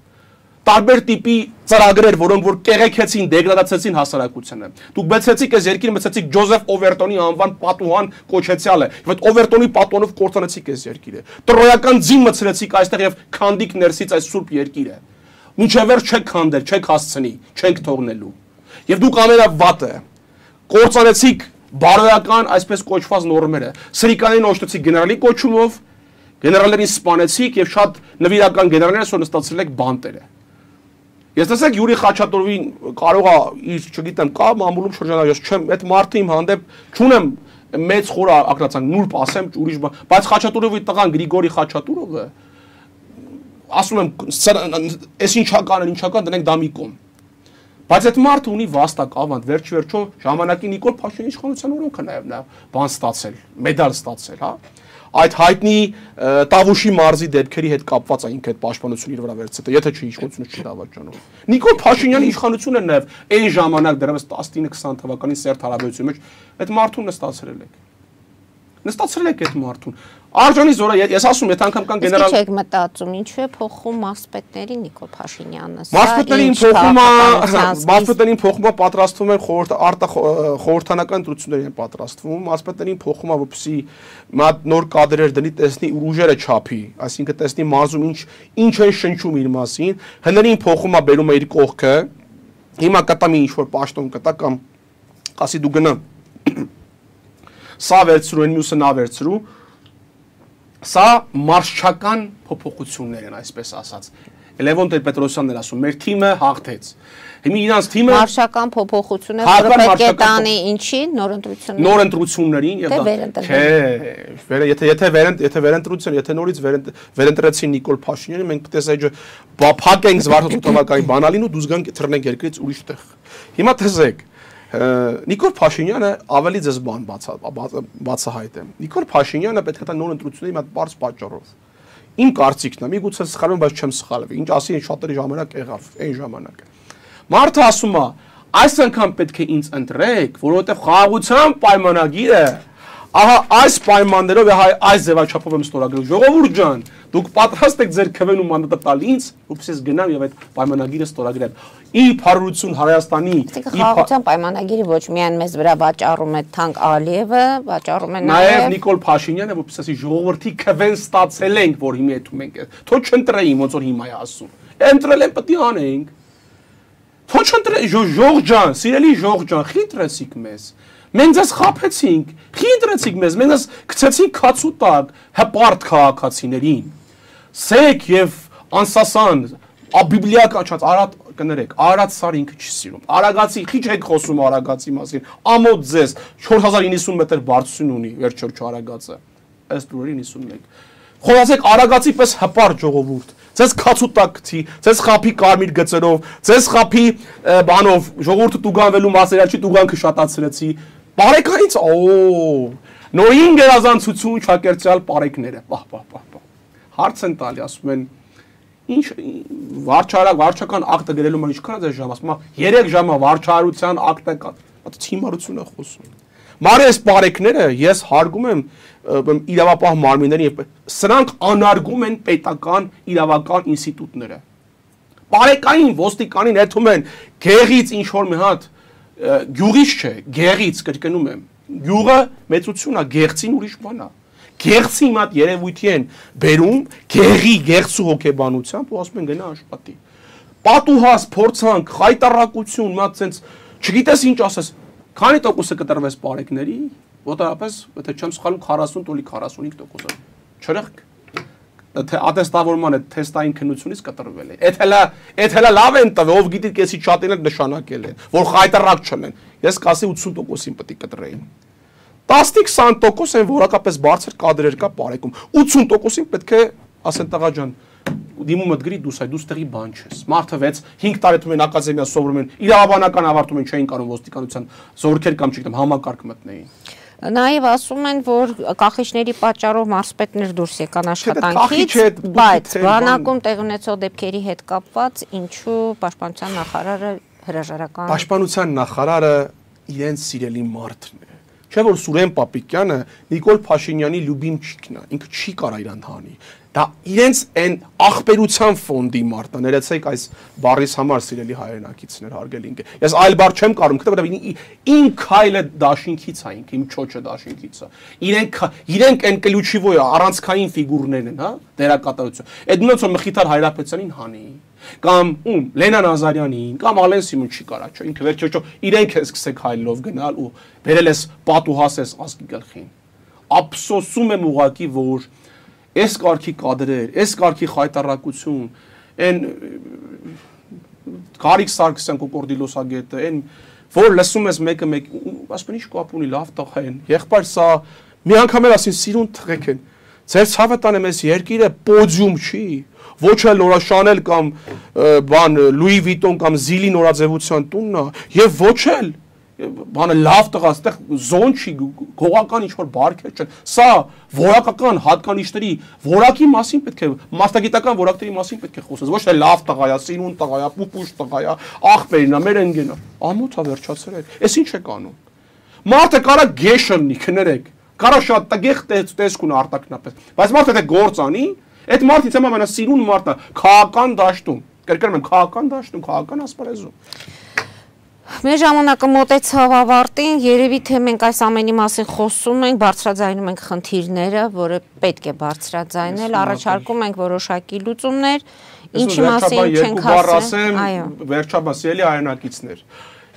տարբեր տիպի ծրագրեր, որոնք որ կեղեքեցին, դեգրադացեցին հասարակությանը։ Դուք բացեցիք այս երկիրը, մցեցիք Ջոզեֆ Օվերտոնի անվան պատուհան կոչեցյալը, եւ այդ Օվերտոնի պատոնով կործանեցիք այս երկիրը։ Տրոյական ձին մցրեցիք այստեղ եւ քանդիկ ներսից այս սուրբ երկիրը։ Մինչև վերջ չեք քանդել, չեք հասցնի, չենք թողնելու։ Եվ դուք ամենավատը կործանեցիք բարոյական այսպես կոչված նորմերը։ Սրիկյանին օժտեցիք գեներալի կոչումով, գեներալներին սպանեցիք եւ շատ նվիրական գեներալներ որ նստացրել եք բանտերը։ Ես տեսեք Յուրի Խաչատուրովին կարող է իր, չգիտեմ, կա մամուլում շրջանակ, ես չեմ, այդ մարդը իմ հանդեպ չունեմ մեծ խոր ակրացանք, նուրբ ասեմ, ուրիշ բան, բայց Խաչատուրովի տղան Գրիգորի Խաչատուրովը ասում եմ, այս ինչական, ինչական դնենք դա մի կողմ։ Բայց այդ մարդը ունի վաստակ ավանդ, վերջ վերջո ժամանակի Նիկոլ Փաշինյանի իշխանության օրոք է նաև նա բան ստացել, մեդալ ստացել, հա։ Այդ հայտնի Տավուշի մարզի դեպքերի հետ կապված է ինքը այդ պաշտպանությունը իր վրա վերցրել, եթե չի իշխանությունը չի դավաճանում։ Նիկոլ Փաշինյանի իշխանությունը նաև այն ժամանակ դեռևս տասնինը քսան թվականին սերտ հարաբերության մեջ այդ մարդուն նստացրել եք։ Նստացրել եք այդ մարդուն։ Արժանի զորը ես ասում եմ, եթե անգամ կան գեներալ Իսկ չեք մտածում, ինչու է փոխում մարզպետների Նիկոլ Փաշինյանը։ Մարզպետներին փոխումը, մարզպետերին փոխումը պատրաստվում են խորհրդանական ընտրություններին են պատրաստվում, մարզպետերին փոխումը որպեսզի մի նոր կադրեր դնի, տեսնի ուժերը չափի, այսինքն տեսնի մարզում ինչ ինչ են շնչում իր մասին, հներին փոխումը բերում է իր կողքը, հիմա կտա մի ինչ-որ պաշտոն կտա կամ ասի դու գնա սա վերցրու, այն մյուսը նա վերցրու, սա մարշչական փոփոխություններ են, այսպես ասած։ Լևոն Տեր-Պետրոսյանն էր ասում, մեր թիմը հաղթեց։ Հիմա իրանց թիմը մարշչական փոփոխություն է, որը պետք է տանի ինչի նոր ընտրություններին։ Նոր ընտրություններին եւ դա չէ, եթե եթե եթե վերընտրություն, եթե նորից վերընտրեցին Նիկոլ Փաշինյանը, մենք պետք է փակենք Զվարթնոցի թվականի բանալին ու դուրս գանք թռնենք երկրից ուրիշ տեղ։ Հիմա տեսեք Նիկոլ Փաշինյանը ավելի ձեզ բան բացահայտ է։ Նիկոլ Փաշինյանը պետք է տա նոր ընտրությունների մի հատ բարձ պատճառով։ Իմ կարծիքն է, միգուցե սխալվում, բայց չեմ սխալվի։ Ինչ ասի, շատերի ժամանակ եղավ, այն ժամանակը։ Մարդը ասում է, այս անգամ պետք է ինձ ընտրեք, որովհետև խաղաղության պայմանագիրը Ահա այս պայմաններով է այս ձևաչափով եմ ստորագրել։ Ժողովուրդ ջան, դուք պատրաստ եք ձեր քվեն ու մանդատը տալ ինձ, որպես ես գնամ եւ այդ պայմանագիրը ստորագրեմ։ Ի փառություն Հայաստանի, խաղաղության պայմանագիրը ոչ միայն մեզ վրա վաճառում է Թանկ Ալիևը, վաճառում է նաեւ Նիկոլ Փաշինյանը, որպես ասի ժողովրդի քվեն ստացել ենք, որ հիմա եթում ենք։ Թո չընտրեին, ոնց որ հիմա է ասում։ Ընտրել են պետք է անենք։ Թո չընտրե ժող ջան, սիրելի ժող ջան, խիտրեցիք մեզ։ Մենք ձեզ խափեցինք, խիտրեցիք մեզ, մենք ձեզ գցեցինք քացու տակ հպարտ քաղաքացիներին։ Սեք եւ անսասան, բիբլիական չած արատ կներեք, Արարատ Սարը ինքը չի սիրում։ Արագացի, քիչ եք խոսում Արագացի մասին։ Ամոթ ձեզ չորս հազար իննսուն մետր բարձրություն ունի, վերջերջ Արագածը։ Ըստ լուրերին իննսուն մեկ։ Խոսացեք Արագացի պես հպարտ ժողովուրդ։ Ձեզ քացու տակ գցի, ձեզ խափի կարմիր գծերով, ձեզ խափի բանով, ժողովուրդը տուգանվելու մասերաչի տուգանքը շատացրեցի։ Բարեկայից, օ, նորին գերազանցություն չակերտյալ բարեկները, պահ, պահ, պահ, պահ, հարց են տալի, ասում են, ինչ, վարչարակ, վարչական ակտը գրելու ման ինչքան է ձեզ ժամ, ասում, երեք ժամա վարչարության ակտը կա, ատը հիմարություն է խոսում։ Մարի այս բարեկները ես հարգում եմ իրավապահ մարմիններին, սրանք անարգում են պետական իրավական ինստիտուտները։ Բարեկային ոստիկանին եթում են գեղից ինչ-որ մի հատ գյուղից չէ, գեղից կրկնում եմ, գյուղը մեծություն է, գեղցին ուրիշ բան է, գեղցի իմ հատ երևույթի են բերում, գեղի, գեղցու հոգեբանությամբ ու ասում են գնա աշխատի, պատուհաս, փորձանք, խայտառակություն, մատ սենց, չգիտես ինչ ասես, քանի տոկոսը կտրվես բարեկների, ոտարապես, եթե չեմ սխալում քառասուն տոլի քառասունհինգ տոկոսը, չրեղք, թե ատեստավորման է թեստային քննությունից կտրվել է, էդ հելա, էդ հելա լավ են տվել, ով գիտի կեսի չատին էլ նշանակել են, որ խայտառակ չլեն, ես կասի ութսուն տոկոսին պետք է կտրեին, տասնից քսան տոկոս են որակապես բարձր կադրեր կա բարեկում, ութսուն տոկոսին պետք է, ասեն տղա ջան, դիմումդ գրի դուս այ դուս տեղի բան չես, մարդը վեց հինգ տարի թվում են ակադեմիա սովորում են, իրավաբանական ավարտում են, չէին կարող ոստիկանության զորքեր կամ չգիտեմ համակարգ մտնեին։ Նաև ասում են, որ կախիչների պատճառով մարզպետներ դուրս եկան աշխատանքից, բայց բանակում տեղ ունեցող դեպքերի հետ կապված ինչու պաշտպանության նախարարը հրաժարական։ Պաշտպանության նախարարը իրենց սիրելի մարդն է։ Չէ՞ որ Սուրեն Պապիկյանը Նիկոլ Փաշինյանի լյուբիմչիկն է, ինքը չի կարա իրան հանի։ Դա իրենց այն ախպերության ֆոնդի մարդն է, ներեցեք այս բառից համար սիրելի հայրենակիցներ, հարգելի ինքը։ Ես այլ բառ չեմ կարող, որովհետև ին քայլը դաշինքից է, ինքը իմ չոչը դաշինքից է։ Իրենք իրենք այն կլյուչիվոյ առանցքային ֆիգուրներն են, հա, դերակատարություն։ Այդ նույնց որ Մխիթար Հայրապետյանին հանի, կամ ում Լենա Նազարյանին, կամ Ալեն Սիմոն չի կարա, չէ, ինքը վերջո իրենք է սկսեք հայլով գնալ ու վերել ես պատուհաս ես ազգի գլխին։ Ափսոսում եմ ուղակի, որ այս կարգի կադրեր, այս կարգի խայտառակություն, այն Գարիկ Սարգսյան կոկորդիլոսագետը, այն որ լսում ես մեկը մեկ, ասում ինչ կապ ունի, լավ տղա են, եղբայր սա մի անգամ էլ ասին սիրուն թղեք են, ձեր ցավը տանեմ այս երկիրը պոդիում չի, ոչ էլ նորաշանել կամ բան Լուի Վիտոն կամ Զիլի նորաձևության տունն է, եւ ոչ էլ բանը լավ տղա, այստեղ զոն չի, գողական ինչ-որ բարքեր չեն, սա որակական հատկանիշների, որակի մասին պետք է, մասնագիտական որակների մասին պետք է խոսես, ոչ թե լավ տղա է, սիրուն տղա է, պուպուշ տղա է, աղբերին է, մեր ընկերն է, ամոթ է վերջացրեք, էս ինչ եք անում, մարդը կարա գեշ լինի, քներեք, կարա շատ տգեղ տեսք ունի արտակնապես, բայց մարդը թե գործ անի, այդ մարդից եմ ամենասիրուն մարդն է, քաղաքական դաշտում, կրկնում եմ, քաղաքական դաշտում, քաղաքական ասպարեզում։ Մեր ժամանակը մոտեցավ ավարտին, երևի թե մենք այս ամենի մասին խոսում ենք, բարձրաձայնում ենք խնդիրները, որը պետք է բարձրաձայնել, առաջարկում ենք որոշակի լուծումներ, ինչի մասին չենք ասեմ, վերջաբան սիրելի հայրենակիցներ։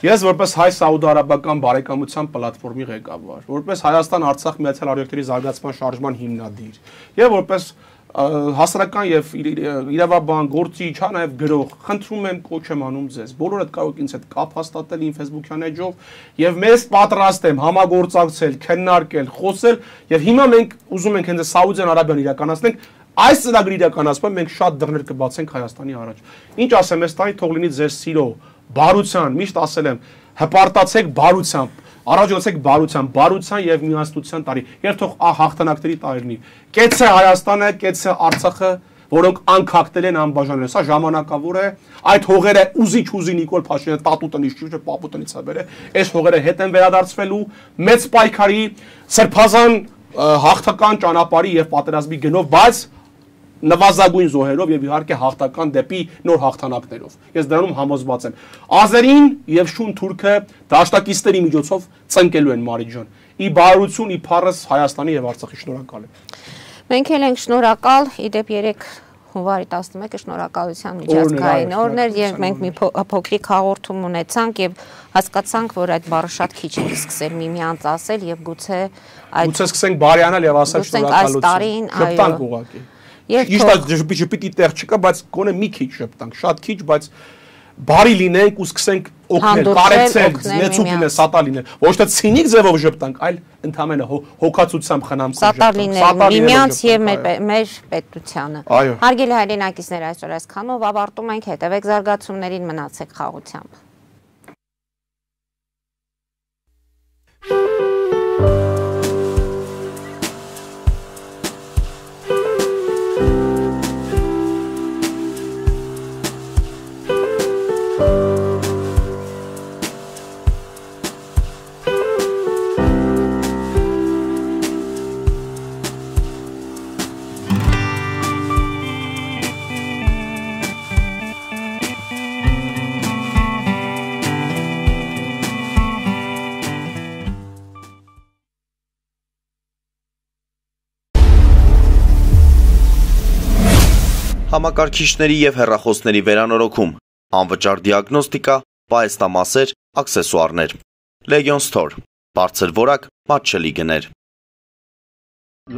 Ես որպես հայ-սաուդարաբական բարեկամության պլատֆորմի ղեկավար, որպես Հայաստան-Արցախ Միացյալ Արևելքների զարգացման շարժման հիմնադիր, եւ որպես հասարակական եւ իրավաբան, գործիչ, հա նաեւ գրող, խնդրում եմ, կոչ եմ անում ձեզ։ Բոլորդ կարող եք ինձ հետ կապ հաստատել իմ Facebook-յան էջով եւ մեզ պատրաստ եմ համագործակցել, քննարկել, խոսել եւ հիմա մենք ուզում ենք հենց Սաուդյան Արաբիան իրականացնենք, այս ծրագրի իրականացման մենք շատ դռներ կբացենք Հայաստանի առաջ։ Ինչ ասեմ, այս տանի թող լինի ձեր սիրո, բարության, միշտ ասել եմ, հպարտացեք բարությամբ, առաջացեք բարության, բարության եւ միասնության տարի, եւ թող հաղթանակների տարիներ։ Կեցե Հայաստանը, կեցե Արցախը, որոնք անքակտել են անբաժանվել։ Սա ժամանակավոր է, այդ հողերը ուզիչ ուզի Նիկոլ Փաշինյանը տատու տնից ճուճը պապու տնից է բերել, այս հողերը հետ են վերադարձվելու մեծ պայքարի, սրբազան հաղթական ճանապարհի եւ պատերազմի գնով, բայց նվազագույն զոհերով եւ իհարկե հաղթական դեպի նոր հաղթանակներով։ Ես դրանում համոզված եմ։ Ազերին եւ Շուն թուրքը դաշնակիցների միջոցով ծնկելու են Մարիք ջան։ Ի բարություն, ի փառս Հայաստանի եւ Արցախի շնորհակալ եմ։ Մենք էլ ենք շնորհակալ, իդեպ երեք հունվարի տասնմեկը շնորհակալության միջազգային օրն էր եւ մենք մի փոքրիկ հաղորդում ունեցանք եւ հասկացանք, որ այդ բառը շատ քիչ է սկսել միմյանց ասել եւ գուցե այդ գուցե սկսենք բարյանալ եւ ասել շնորհակալություն։ Շփտանք ուղղակի։ Ճիշտ է, ժպիտի տեղ չկա, բայց գոնե մի քիչ շփտանք, շատ քիչ, բայց բարի լինենք ու սկսենք օգնել, կարեկցել, նեցուկ լինել, սատար լինել, ոչ թե ցինիկ ձևով ժպտանք, այլ ընդհանրապես հոգացությամբ խնամքով սատար լինել, միմյանց եւ մեր պետությանը։ Հարգելի հայրենակիցներ, այսօր այսքանով ավարտում ենք, հետևեք զարգացումներին, մնացեք խաղաղությամբ։ Համակարգիչների եւ հեռախոսների վերանորոգում, անվճար դիագնոստիկա, պահեստամասեր, աքսեսուարներ։ Legion Store, բարձր որակ, մատչելի գներ։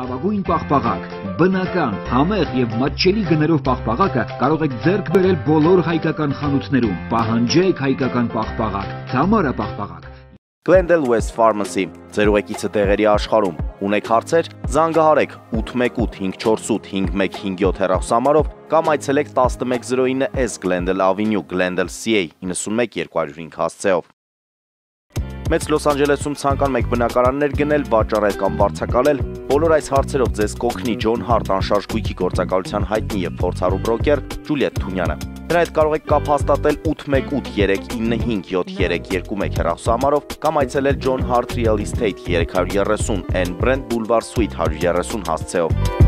Լավագույն պաղպաղակ, բնական, համեղ եւ մատչելի գներով պաղպաղակը կարող եք ձեռք բերել բոլոր հայկական խանութներում։ Պահանջեք հայկական պաղպաղակ, Թամարա պաղպաղակ։ Glendale West Pharmacy, ձեր ուղեկիցը տեղերի աշխարհում։ Ունեք հարցեր, զանգահարեք ութ մեկ ութ հինգ չորս ութ հինգ մեկ հինգ յոթ հեռախոսահամարով կամ այցելեք տասնմեկ զրո ինը S Glendale Avenue, Glendale C A նոյնմեկ երկու հինգ հասցեով։ Մեծ Լոս Անջելեսում ցանկանում եք բնակարաններ գնել, վաճառել կամ վարձակալել, բոլոր այս հարցերով ձեզ կօգնի Ջոն Հարտ անշարժ գույքի գործակալության հայտնի եւ փորձառու բրոկեր Ջուլիետ Թունյանը։ Դրա հետ կարող եք կապ հաստատել ութ մեկ ութ երեք ինը հինգ յոթ երեք երկու մեկ հեռախոսահամարով կամ այցելել Ջոն Հարտ Real Estate երեք երեսուն N Brand Boulevard Suite հարյուր երեսուն հասցեով։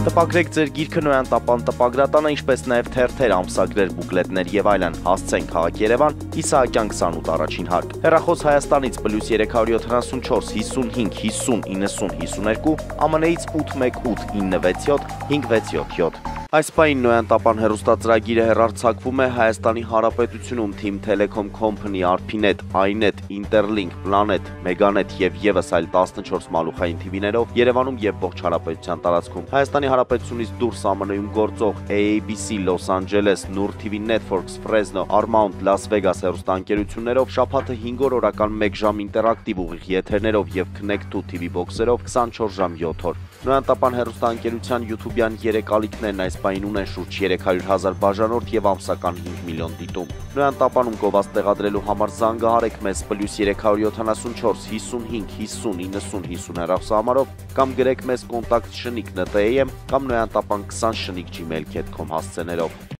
Տպագրեք ձեր գիրքը Նոյան տապան տպագրատանը, ինչպես նաև թերթեր, ամսագրեր, բուկլետներ եւ այլն։ Հասցեն քաղաք Երևան, Իսահակյան քսանութ առաջին հարկ։ Հեռախոս Հայաստանից պլյուս երեք յոթանասունչորս հիսունհինգ հիսուն իննսուն հիսուներկու, ԱՄՆ-ից ութ մեկ ութ ինը վեց յոթ հինգ վեց յոթ յոթ։ Այս պահին Նոյան տապան հեռուստածրագիրը հեռարձակվում է Հայաստանի Հանրապետությունում Team Telecom Company, Arpinet, iNet, Interlink, Planet, Meganet եւ եւս այլ տասնչորս մալուխային թիվիներով Երևանում եւ ողջ հանրապետության տարածքում։ Հայաստանի Հանրապետությունից դուրս ԱՄՆ-ում գործող A A B C, Los Angeles, Nur T V Networks, Fresno, Paramount, Las Vegas հեռուստաընկերություններով շաբաթը հինգ օր օրական մեկ ժամ ինտերակտիվ ուղիղ եթերներով եւ Connect two T V բոքսերով քսանչորս ժամ յոթ օր։ Նոյան տապան հեռուստաընկերության YouTube-յան երեք ալիքներն այս պահին ունեն շուրջ երեք հարյուր հազար բաժանորդ եւ ամսական հինգ միլիոն դիտում։ Նոյան տապանում գովաց տեղադրելու համար զանգահարեք մեզ պլյուս երեք յոթանասունչորս հիսունհինգ հիսուն իննսուն հիսուն հեռախոսահամարով կամ գրեք մեզ կոնտակտ շնիկ N T A M կամ Նոյան տապան քսան շնիկ gmail dot com հասցեներով։